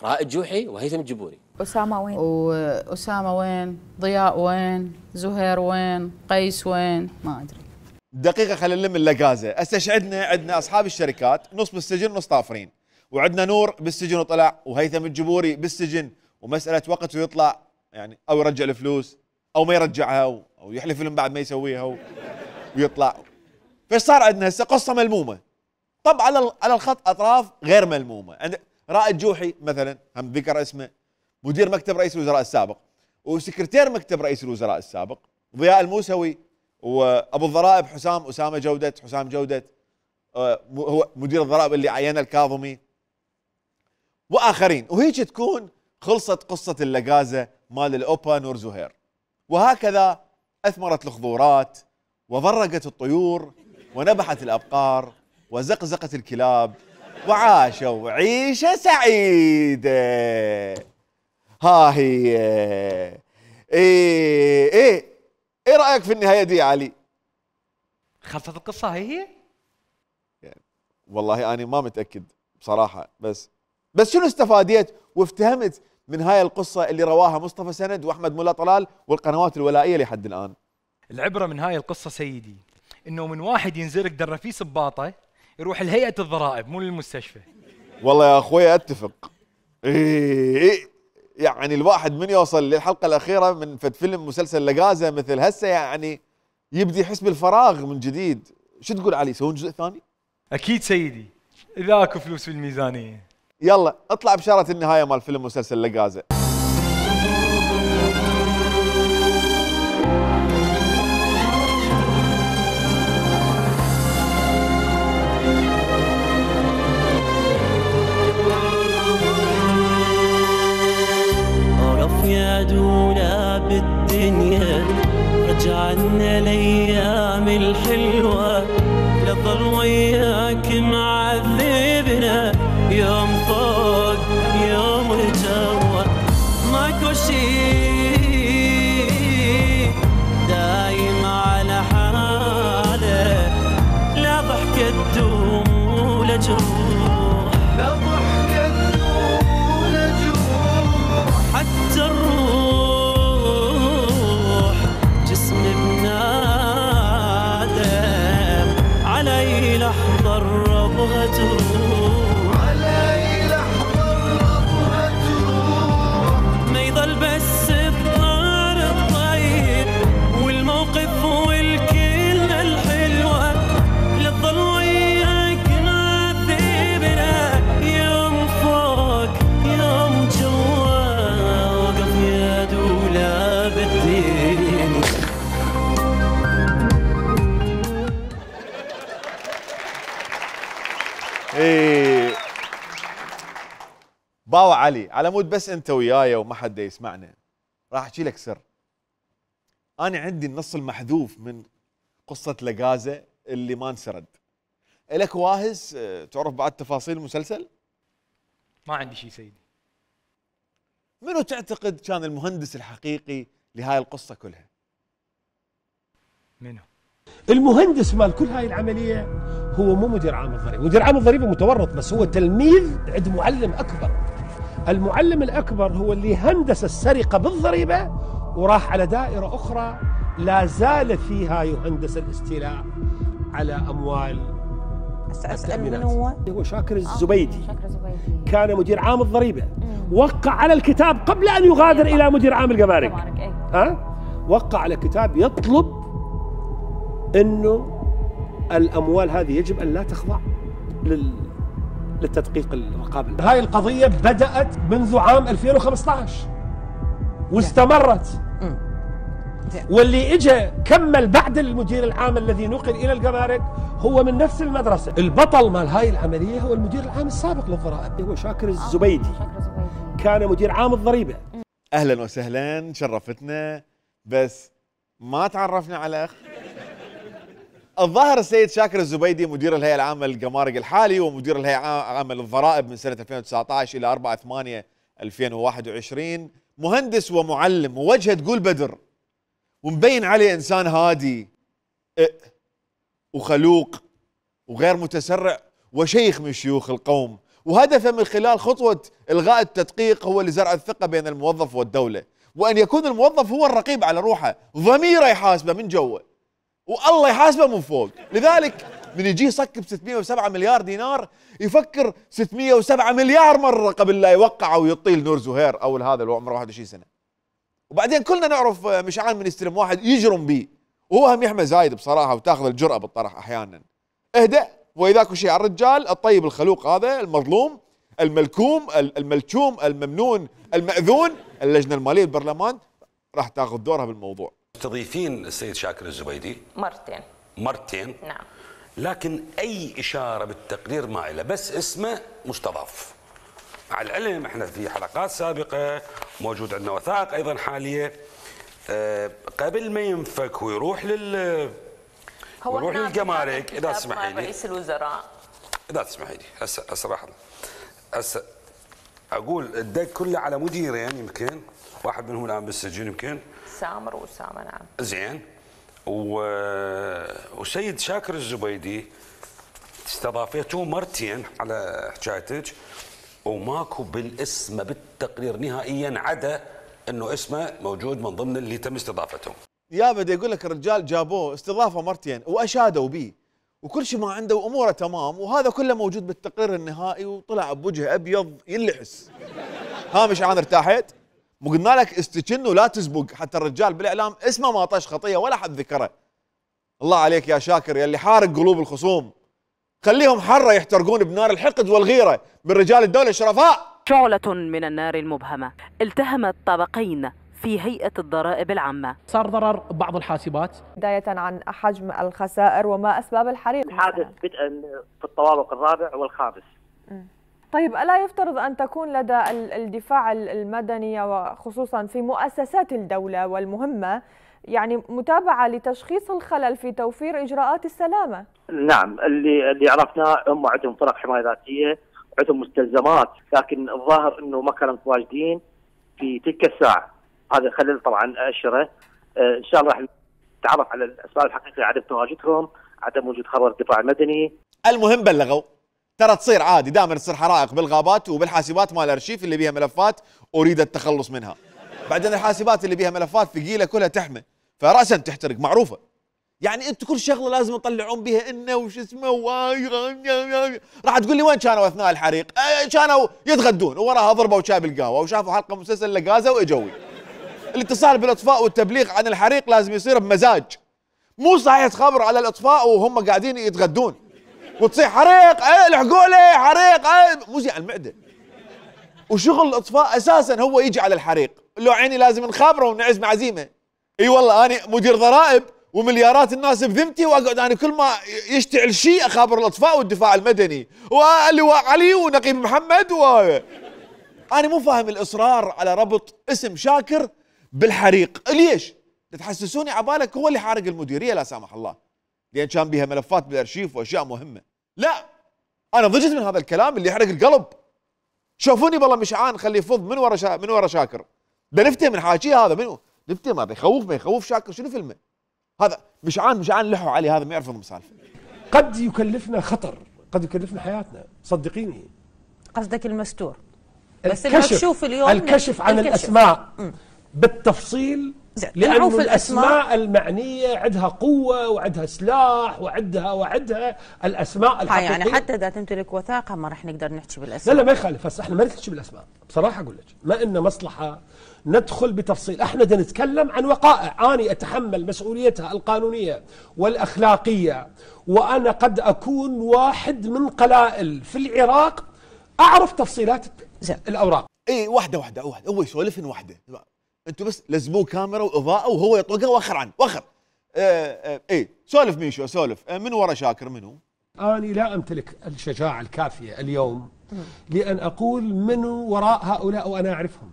رائد جوحي وهيثم الجبوري. أسامة وين؟ وأسامة وين؟ ضياء وين؟ زهير وين؟ قيس وين؟ ما أدري. دقيقة خلينا نلم اللقازة، استشعدنا عندنا أصحاب الشركات نص بالسجن ونص طافرين، وعندنا نور بالسجن وطلع، وهيثم الجبوري بالسجن ومسألة وقت ويطلع، يعني أو يرجع الفلوس أو ما يرجعها أو يحلف لهم بعد ما يسويها ويطلع. فايش صار عندنا هسه؟ قصة ملمومة. طب على على الخط أطراف غير ملمومة، عند رائد جوحي مثلا هم ذكر اسمه، مدير مكتب رئيس الوزراء السابق وسكرتير مكتب رئيس الوزراء السابق، ضياء الموسوي وابو الضرائب حسام اسامه جوده حسام جوده هو مدير الضرائب اللي عينه الكاظمي واخرين، وهيك تكون خلصت قصه اللقازه مال الاوبا نور زهير. وهكذا اثمرت الخضورات وضرقت الطيور ونبحت الابقار وزقزقت الكلاب وعاشوا عيشه سعيده. ها هي ايه ايه ايه رايك في النهايه دي يا علي؟ خلصت القصه هي هي؟ يعني والله انا ما متاكد بصراحه، بس بس شنو استفاديت وافتهمت من هاي القصه اللي رواها مصطفى سند واحمد مولا طلال والقنوات الولائيه لحد الان؟ العبره من هاي القصه سيدي انه من واحد ينزرق درفيس بباطه يروح لهيئه الضرائب مو للمستشفى. والله يا اخوي اتفق. إيه يعني الواحد من يوصل للحلقه الاخيره من فد فيلم مسلسل لقازه مثل هسه يعني يبدي يحس بالفراغ من جديد. شو تقول علي يسوون جزء ثاني؟ اكيد سيدي اذا اكو فلوس في الميزانيه. يلا اطلع بشاره النهايه مال فيلم مسلسل لقازه. يا دولا بالدنيا رجعنا الايام الحلوه لظل وياك معذبنا يوم فوق يوم جوا ماكو شي دايم على حاله لا ضحكه تدوم ولا جروح لا ضحكه تدوم ولا جروح حتى الروح جسم بنادم علي لحظة الربها تروح علي لحظة الربها تروح ما يضل بس الطار الطيب والموقف والكلمة الحلوة لتظل وياك معذبنا يوم فوق يوم جوا وقف يا دولا بالدين. ايه باوع علي على مود بس انت وياي وما حد يسمعنا راح احكي لك سر. انا عندي النص المحذوف من قصه لقازه اللي ما انسرد. الك واهس تعرف بعد تفاصيل المسلسل؟ ما عندي شيء سيدي. منو تعتقد كان المهندس الحقيقي لهاي القصه كلها؟ منو؟ المهندس مال كل هاي العمليه هو مو مدير عام الضريبه، مدير عام الضريبه متورط بس هو تلميذ عند معلم اكبر. المعلم الاكبر هو اللي هندس السرقه بالضريبه وراح على دائره اخرى لا زال فيها يهندس الاستيلاء على اموال التأمينات. هو هو شاكر الزبيدي. آه. شاكر الزبيدي كان مدير عام الضريبه، وقع على الكتاب قبل ان يغادر الى مدير عام الجمارك. ها؟ أه؟ وقع على كتاب يطلب انه الاموال هذه يجب ان لا تخضع لل... للتدقيق الرقابي. هاي القضيه بدات منذ عام ألفين وخمسة عشر واستمرت. واللي اجى كمل بعد المدير العام الذي نقل الى الجمارك هو من نفس المدرسه. البطل مال هاي العمليه هو المدير العام السابق للضرائب هو شاكر الزبيدي. كان مدير عام الضريبه. اهلا وسهلا شرفتنا، بس ما تعرفنا على اخ. الظاهر السيد شاكر الزبيدي مدير الهيئة العامة للجمارك الحالي ومدير الهيئة العامة للضرائب من سنة ألفين وتسعة عشر إلى أربعة ثمانية ألفين وواحد وعشرين، مهندس ومعلم ووجهه تقول بدر، ومبين عليه إنسان هادي وخلوق وغير متسرع وشيخ من شيوخ القوم، وهدفه من خلال خطوة إلغاء التدقيق هو لزرع الثقة بين الموظف والدولة، وأن يكون الموظف هو الرقيب على روحه، ضميره يحاسبه من جوا والله يحاسبه من فوق. لذلك من يجي يصك ب ستمئة وسبعة مليار دينار يفكر ستمئة وسبعة مليار مرة قبل لا يوقع ويطيل نور زهير أو هذا اللي عمره واحد وعشرين سنة. وبعدين كلنا نعرف مشعان من يستلم واحد يجرم به وهو هم يحمى زايد بصراحة وتاخذ الجرأة بالطرح أحيانا. اهدأ وإذاك شيء على الرجال الطيب الخلوق هذا المظلوم الملكوم الملتوم الممنون المأذون، اللجنة المالية بالبرلمان راح تاخذ دورها بالموضوع. مستضيفين السيد شاكر الزبيدي مرتين مرتين نعم، لكن أي إشارة بالتقرير ما إله، بس اسمه مستضاف. مع العلم احنا في حلقات سابقة موجود عندنا وثائق أيضا حالية أه قبل ما ينفك ويروح لل هو ويروح للجمارك. إذا تسمحي لي رئيس الوزراء إذا تسمحي لي هسه هسه راح هسه أقول الدق كله على مديرين، يمكن واحد منهم الآن بالسجن يمكن سامر وأسامة. نعم زين. و... وسيد شاكر الزبيدي استضافيته مرتين على حكايتك وماكو بالاسم بالتقرير نهائيا عدا انه اسمه موجود من ضمن اللي تم استضافتهم. يا بدي اقول لك الرجال جابوه استضافه مرتين واشادوا به وكل شيء ما عنده واموره تمام، وهذا كله موجود بالتقرير النهائي وطلع بوجه ابيض ينلحس. ها مشعان ارتاحت؟ مو قلنا لك استجن ولا تزبق، حتى الرجال بالاعلام اسمه ما طاش خطيه ولا حد ذكره. الله عليك يا شاكر يا اللي حارق قلوب الخصوم، خليهم حره يحترقون بنار الحقد والغيره من رجال الدوله الشرفاء. شعلة من النار المبهمة التهمت طبقين في هيئة الضرائب العامة. صار ضرر ببعض الحاسبات. بداية عن حجم الخسائر وما أسباب الحريق. الحادث بدءا في الطوابق الرابع والخامس. م. طيب ألا يفترض أن تكون لدى الدفاع المدني وخصوصا في مؤسسات الدولة والمهمة يعني متابعة لتشخيص الخلل في توفير إجراءات السلامة؟ نعم، اللي اللي عرفناه هم عندهم فرق حماية ذاتية، عندهم مستلزمات، لكن الظاهر انه ما كانوا متواجدين في تلك الساعة. هذا خلل طبعا أشرة. آه ان شاء الله راح نتعرف على الأسباب الحقيقية عدم تواجدهم، عدم وجود خبر الدفاع المدني. المهم بلغوا ترى تصير عادي دائما تصير حرائق بالغابات وبالحاسبات مال الارشيف اللي بيها ملفات اريد التخلص منها. بعدين الحاسبات اللي بيها ملفات ثقيله كلها تحمى فراسا تحترق معروفه. يعني انتم كل شغله لازم تطلعون بها انه وش اسمه راح تقول لي وين كانوا اثناء الحريق؟ كانوا يتغدون ووراها ضربوا شاي بالقهوه وشافوا حلقه مسلسل لقازه واجوي. الاتصال بالاطفاء والتبليغ عن الحريق لازم يصير بمزاج. مو صحيح تخبر على الاطفاء وهم قاعدين يتغدون وتصيح حريق ايه الحقوا لي حريق ايه مو زي على المعده. وشغل الاطفاء اساسا هو يجي على الحريق، لو عيني لازم نخابره ونعزم عزيمه. اي والله انا مدير ضرائب ومليارات الناس بذمتي واقعد انا كل ما يشتعل شيء اخابر الاطفاء والدفاع المدني واللواء علي ونقيب محمد و انا مو فاهم الاصرار على ربط اسم شاكر بالحريق. ليش؟ تحسسوني عبالك هو اللي حارق المديريه لا سامح الله لان كان بيها ملفات بالارشيف واشياء مهمه. لا انا ضجت من هذا الكلام اللي يحرق القلب. شوفوني والله مشعان خليه يفض من ورا شا... من ورا شاكر. ده نفتي من حاكيه هذا منو؟ نفتي ما بيخوف ما يخوف شاكر شنو فيلمه؟ هذا مشعان مشعان لحوا علي هذا ما يعرف مسالفه. قد يكلفنا خطر، قد يكلفنا حياتنا، صدقيني. قصدك المستور. بس المكشوف اليوم الكشف عن الكشف. الاسماء م. بالتفصيل لأن الأسماء المعنية عندها قوة وعندها سلاح وعندها وعندها الأسماء الحقيقية. يعني حتى إذا تمتلك وثائق ما راح نقدر نحكي بالأسماء. لا لا ما يخالف، هسه احنا ما نحكي بالأسماء، بصراحة أقول لك ما إن مصلحة ندخل بتفصيل، احنا بدنا نتكلم عن وقائع أنا أتحمل مسؤوليتها القانونية والأخلاقية، وأنا قد أكون واحد من قلائل في العراق أعرف تفصيلات الأوراق. إيه واحدة واحدة واحدة هو يسولفن واحدة. انتوا بس لزموه كاميرا واضاءه وهو يطلقها واخر عنه واخر. اه اه ايه سولف ميشو سولف اه من ورا شاكر منو؟ انا لا امتلك الشجاعه الكافيه اليوم لان اقول منو وراء هؤلاء وانا اعرفهم.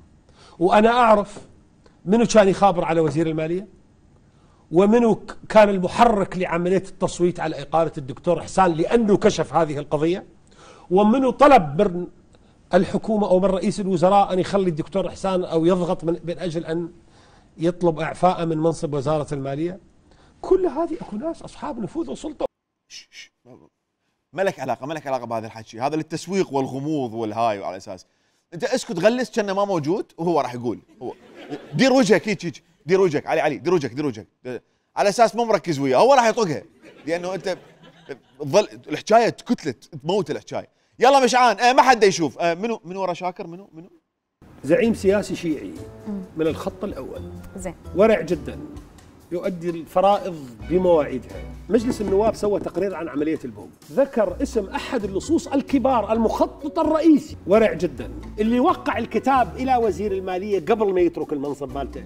وانا اعرف منو كان يخابر على وزير الماليه ومنو كان المحرك لعملية التصويت على إقالة الدكتور إحسان لأنه كشف هذه القضية، ومنو طلب من الحكومة أو من رئيس الوزراء أن يخلي الدكتور إحسان أو يضغط من, من أجل أن يطلب إعفاءه من منصب وزارة المالية. كل هذه أكو ناس أصحاب نفوذ وسلطة. ما لك علاقة ما لك علاقة بهذا الحكي، هذا للتسويق والغموض والهاي، وعلى أساس أنت اسكت غلس كأنه ما موجود وهو راح يقول. هو دير وجهك هيك هيك، دير وجهك علي علي، دير وجهك دير وجهك على أساس مو مركز وياه، هو راح يطقها لأنه أنت تظل الحكاية تكتلت تموت الحكاية. يلا مشعان آه ما حد يشوف آه منو منو ورا شاكر منو منو زعيم سياسي شيعي من الخط الأول، زين، ورع جدا، يؤدي الفرائض بمواعيدها. مجلس النواب سوى تقرير عن عملية البوم، ذكر اسم أحد اللصوص الكبار المخطط الرئيسي، ورع جدا، اللي وقع الكتاب إلى وزير المالية قبل ما يترك المنصب مالته،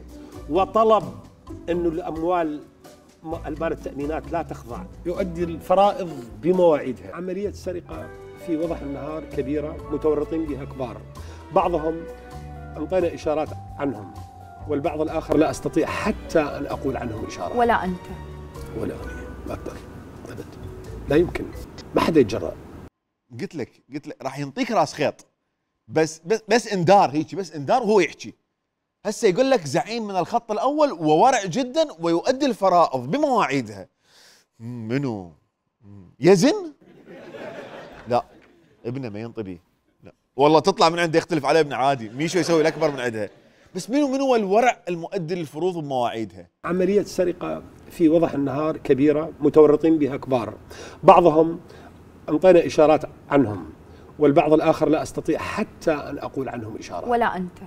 وطلب أنه الأموال المال التأمينات لا تخضع، يؤدي الفرائض بمواعيدها. عملية سرقة في وضح النهار كبيرة، متورطين بها كبار، بعضهم أعطينا إشارات عنهم، والبعض الآخر لا أستطيع حتى أن أقول عنهم إشارة. ولا أنت ولا أنا ما أقدر أبد، لا يمكن، ما حدا يتجرأ. قلت لك قلت لك راح ينطيك راس خيط، بس بس بس اندار هيك، بس اندار وهو يحكي. هسه يقول لك زعيم من الخط الأول وورع جدا ويؤدي الفرائض بمواعيدها. منو؟ يزن؟ لا ابنه ما ينطبي، لا والله تطلع من عنده يختلف عليه ابنه عادي، ميشو يسوي الأكبر من عندها. بس منو منو الورع المؤدي للفروض بمواعيدها؟ عملية سرقة في وضح النهار كبيرة، متورطين بها كبار، بعضهم أعطينا إشارات عنهم، والبعض الآخر لا أستطيع حتى أن أقول عنهم إشارة. ولا أنت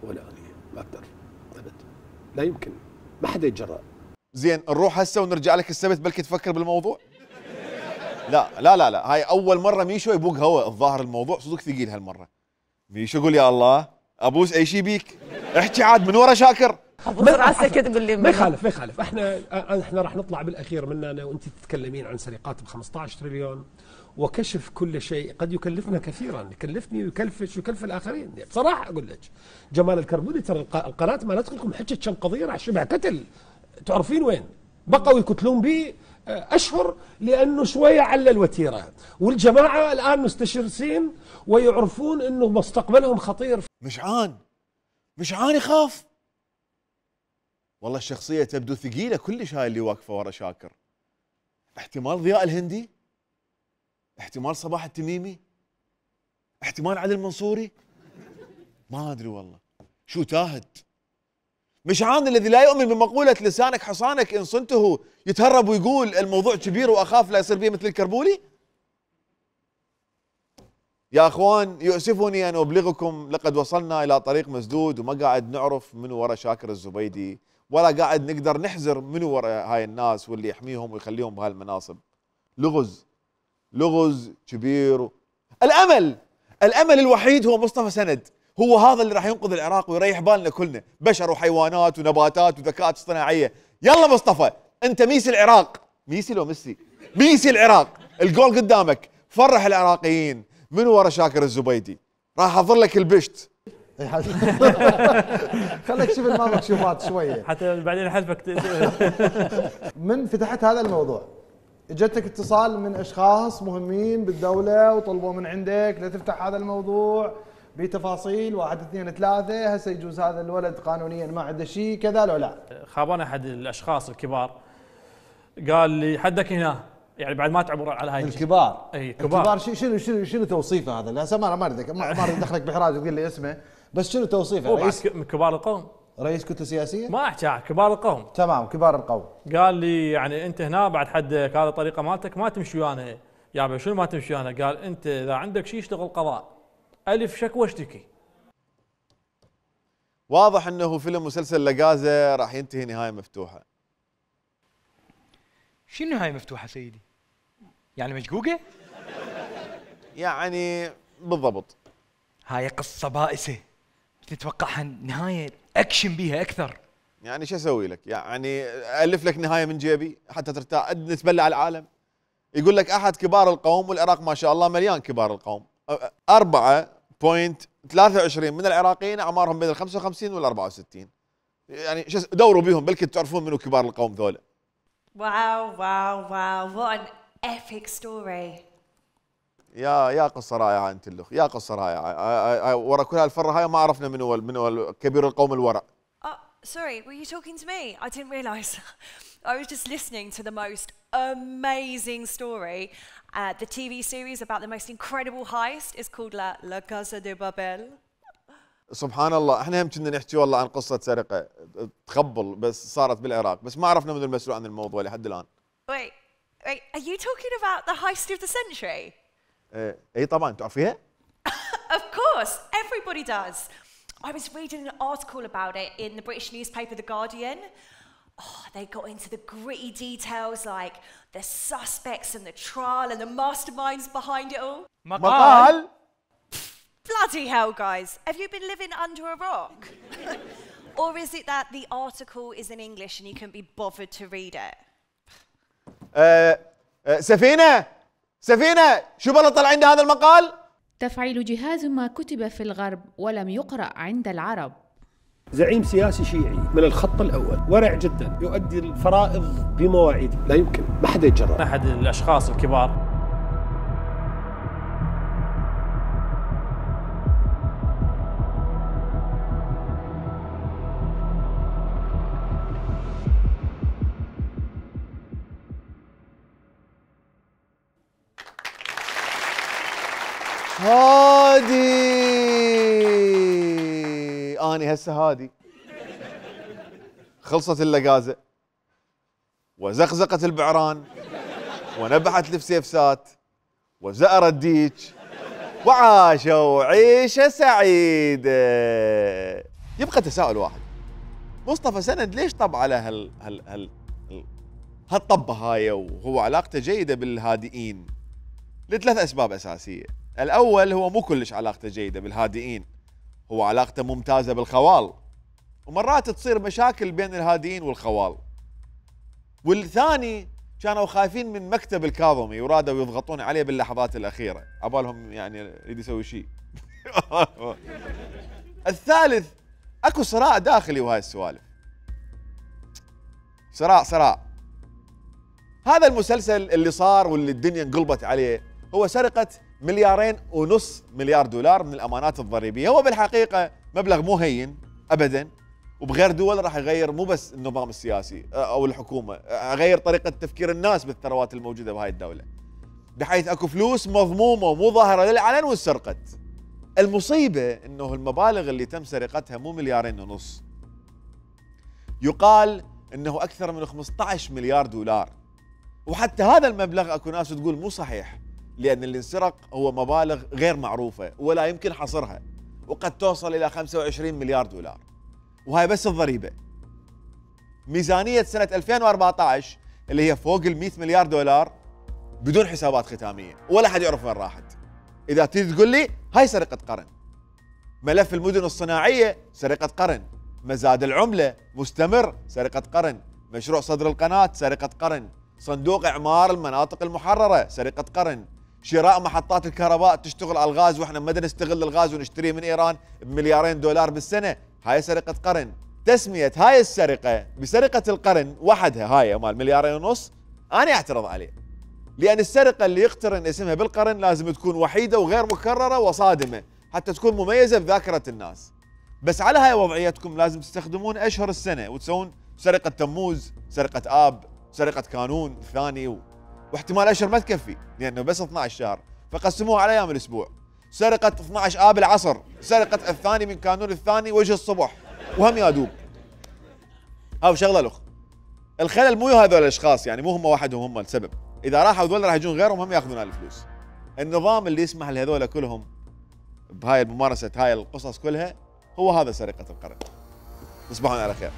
ولا أنا ما أقدر أبد، لا يمكن، ما حدا يتجرأ. زين نروح هسه ونرجع لك السبت بلكي تفكر بالموضوع؟ لا لا لا لا هاي أول مرة ميشو يبوق هوا، الظاهر الموضوع صدق ثقيل هالمرة. ميشو قول يا الله ابوس اي شيء بيك، احكي عاد من ورا شاكر. ابوس راسك تقول لي ما يخالف ما يخالف، احنا احنا راح نطلع بالاخير منا انا وانت تتكلمين عن سرقات ب خمسة عشر تريليون وكشف كل شيء قد يكلفنا كثيرا، يكلفني ويكلفش ويكلف الاخرين. بصراحه اقول لك جمال الكربوني ترى القناه مالتكم حكت كم قضيه راح شبه قتل، تعرفين وين؟ بقوا يقتلون بي اشهر لانه شويه على الوتيره، والجماعه الان مستشرسين ويعرفون انه مستقبلهم خطير. مشعان مشعان يخاف والله، الشخصيه تبدو ثقيله كلش هاي اللي واقفه ورا شاكر. احتمال ضياء الهندي، احتمال صباح التميمي، احتمال عدل المنصوري، ما ادري والله شو تاهت. مشعان الذي لا يؤمن بمقولة لسانك حصانك إن صنته يتهرب ويقول الموضوع كبير وأخاف لا يصير بيه مثل الكربولي. يا أخوان يؤسفني أن أبلغكم لقد وصلنا إلى طريق مسدود، وما قاعد نعرف منو ورا شاكر الزبيدي، ولا قاعد نقدر نحزر منو ورا هاي الناس واللي يحميهم ويخليهم بهالمناصب. لغز لغز كبير. الأمل الأمل الوحيد هو مصطفى سند، هو هذا اللي راح ينقذ العراق ويريح بالنا كلنا، بشر وحيوانات ونباتات وذكاءات اصطناعيه. يلا مصطفى انت ميسي العراق، ميسي لو ميسي ميسي العراق، الجول قدامك، فرح العراقيين. من ورا شاكر الزبيدي راح احضر لك البشت. خليك شوف المكشوفات شويه حتى بعدين احذفك. من فتحت هذا الموضوع اجتك اتصال من اشخاص مهمين بالدوله وطلبوا من عندك لتفتح هذا الموضوع بتفاصيل واحد اثنين ثلاثه، هسه يجوز هذا الولد قانونيا ما عنده شيء كذا لو لا؟ خابرنا احد الاشخاص الكبار قال لي حدك هنا، يعني بعد ما تعبر على هاي الكبار. اي كبار. الكبار شنو شنو شنو توصيفه هذا؟ هسه ما ما اريد ما اريد ادخلك بحراج تقول لي اسمه، بس شنو توصيفه؟ رئيس من كبار القوم، رئيس كتله سياسيه؟ ما احكي كبار القوم. تمام كبار القوم. قال لي يعني انت هنا بعد حدك هذه الطريقه مالتك ما تمشي ويانا. يابا شنو ما تمشي ويانا؟ قال انت اذا عندك شيء اشتغل قضاء، الف شكوى اشتكي. واضح انه فيلم مسلسل لقازة راح ينتهي نهايه مفتوحه. شنو نهايه مفتوحه سيدي؟ يعني مشقوقه؟ يعني بالضبط. هاي قصه بائسه، تتوقعها نهايه اكشن بيها اكثر. يعني شو اسوي لك؟ يعني الف لك نهايه من جيبي حتى ترتاح نتبلع العالم. يقول لك احد كبار القوم، والعراق ما شاء الله مليان كبار القوم. أربعة فاصلة ثلاثة وعشرين من العراقيين اعمارهم بين ال خمسة وخمسين وال أربعة وستين. يعني شو دوروا بيهم بلكي تعرفون منو كبار القوم ذولا. Wow, wow, wow. What an epic story. يا يا قصه رائعه انت الاخ، يا قصه رائعه. ورا كل هالفره هاي ما عرفنا منو منو كبير القوم الورع. Oh, sorry, were you talking to me? I didn't realise. I was just listening to the most amazing story. Uh, the T V series about the most incredible heist is called La, La Casa de Babel. سبحان الله، احنا هم كنا نحكي والله عن قصه سرقه تخبل بس صارت بالعراق، بس ما عرفنا منو المسؤول عن الموضوع لحد الان. Wait, wait, are you talking about the heist of the century? ايه اي طبعا تعرفيها؟ Of course, everybody does. I was reading an article about it in the British newspaper The Guardian. Oh, they got into the gritty details like the suspects and the trial and the masterminds behind it all. مقال. Bloody hell, guys. Have you been living under a rock? Or is it that the article is in English and you can be bothered to read it? أه أه سفينة سفينة شو بلا طلع عند هذا المقال؟ تفعيل جهاز ما كتب في الغرب ولم يقرأ عند العرب. زعيم سياسي شيعي من الخط الأول، ورع جدا، يؤدي الفرائض بمواعيد، لا يمكن ما حدا يتجرأ. أحد الأشخاص الكبار هادي اني هسه هادي خلصت اللقازه وزقزقت البعران ونبحت الفسيفسات وزأر الديك وعاشوا عيشه سعيده. يبقى تساؤل واحد، مصطفى سند ليش طب على هال هال هال هالطبه هاي وهو علاقته جيده بالهادئين؟ لثلاث اسباب اساسيه. الأول هو مو كلش علاقته جيدة بالهادئين، هو علاقته ممتازة بالخوال، ومرات تصير مشاكل بين الهادئين والخوال. والثاني كانوا خايفين من مكتب الكاظمي ورادوا يضغطون عليه باللحظات الأخيرة، عبالهم يعني يريد يسوي شيء. الثالث اكو صراع داخلي وهاي السوالف. صراع صراع. هذا المسلسل اللي صار واللي الدنيا انقلبت عليه هو سرقة مليارين ونص مليار دولار من الامانات الضريبيه، هو بالحقيقه مبلغ مو هين ابدا، وبغير دول راح يغير مو بس النظام السياسي او الحكومه، يغير طريقه تفكير الناس بالثروات الموجوده بهاي الدوله. بحيث اكو فلوس مضمومه ومو ظاهره للعلن وانسرقت. المصيبه انه المبالغ اللي تم سرقتها مو مليارين ونص. يقال انه اكثر من خمسة عشر مليار دولار. وحتى هذا المبلغ اكو ناس تقول مو صحيح، لأن اللي انسرق هو مبالغ غير معروفة ولا يمكن حصرها، وقد توصل إلى خمسة وعشرين مليار دولار، وهاي بس الضريبة. ميزانية سنة ألفين وأربعة عشر اللي هي فوق ال مئة مليار دولار بدون حسابات ختامية، ولا حد يعرف وين راحت. إذا تريد تقول لي هاي سرقة قرن. ملف المدن الصناعية سرقة قرن، مزاد العملة مستمر سرقة قرن، مشروع صدر القناة سرقة قرن، صندوق إعمار المناطق المحررة سرقة قرن، شراء محطات الكهرباء تشتغل على الغاز واحنا ما نستغل الغاز ونشتريه من ايران بمليارين دولار بالسنه، هاي سرقه قرن. تسميه هاي السرقه بسرقه القرن وحدها هاي مال مليارين ونص انا اعترض عليه، لان السرقه اللي يقترن اسمها بالقرن لازم تكون وحيده وغير مكرره وصادمه حتى تكون مميزه بذاكره الناس. بس على هاي وضعيتكم لازم تستخدمون اشهر السنه وتسوون سرقه تموز، سرقه اب، سرقه كانون الثاني و... واحتمال اشهر ما تكفي لانه بس اثني عشر شهر، فقسموها على ايام الاسبوع. سرقه اثني عشر اب العصر، سرقه الثاني من كانون الثاني وجه الصبح، وهم يادوب. هاو شغله الاخ. الخلل مو هذول الاشخاص، يعني مو هم وحدهم هم السبب، اذا راحوا هذول راح يجون غيرهم هم ياخذون الفلوس. النظام اللي يسمح لهذول كلهم بهاي الممارسه هاي القصص كلها هو هذا سرقه القرن. تصبحون على خير.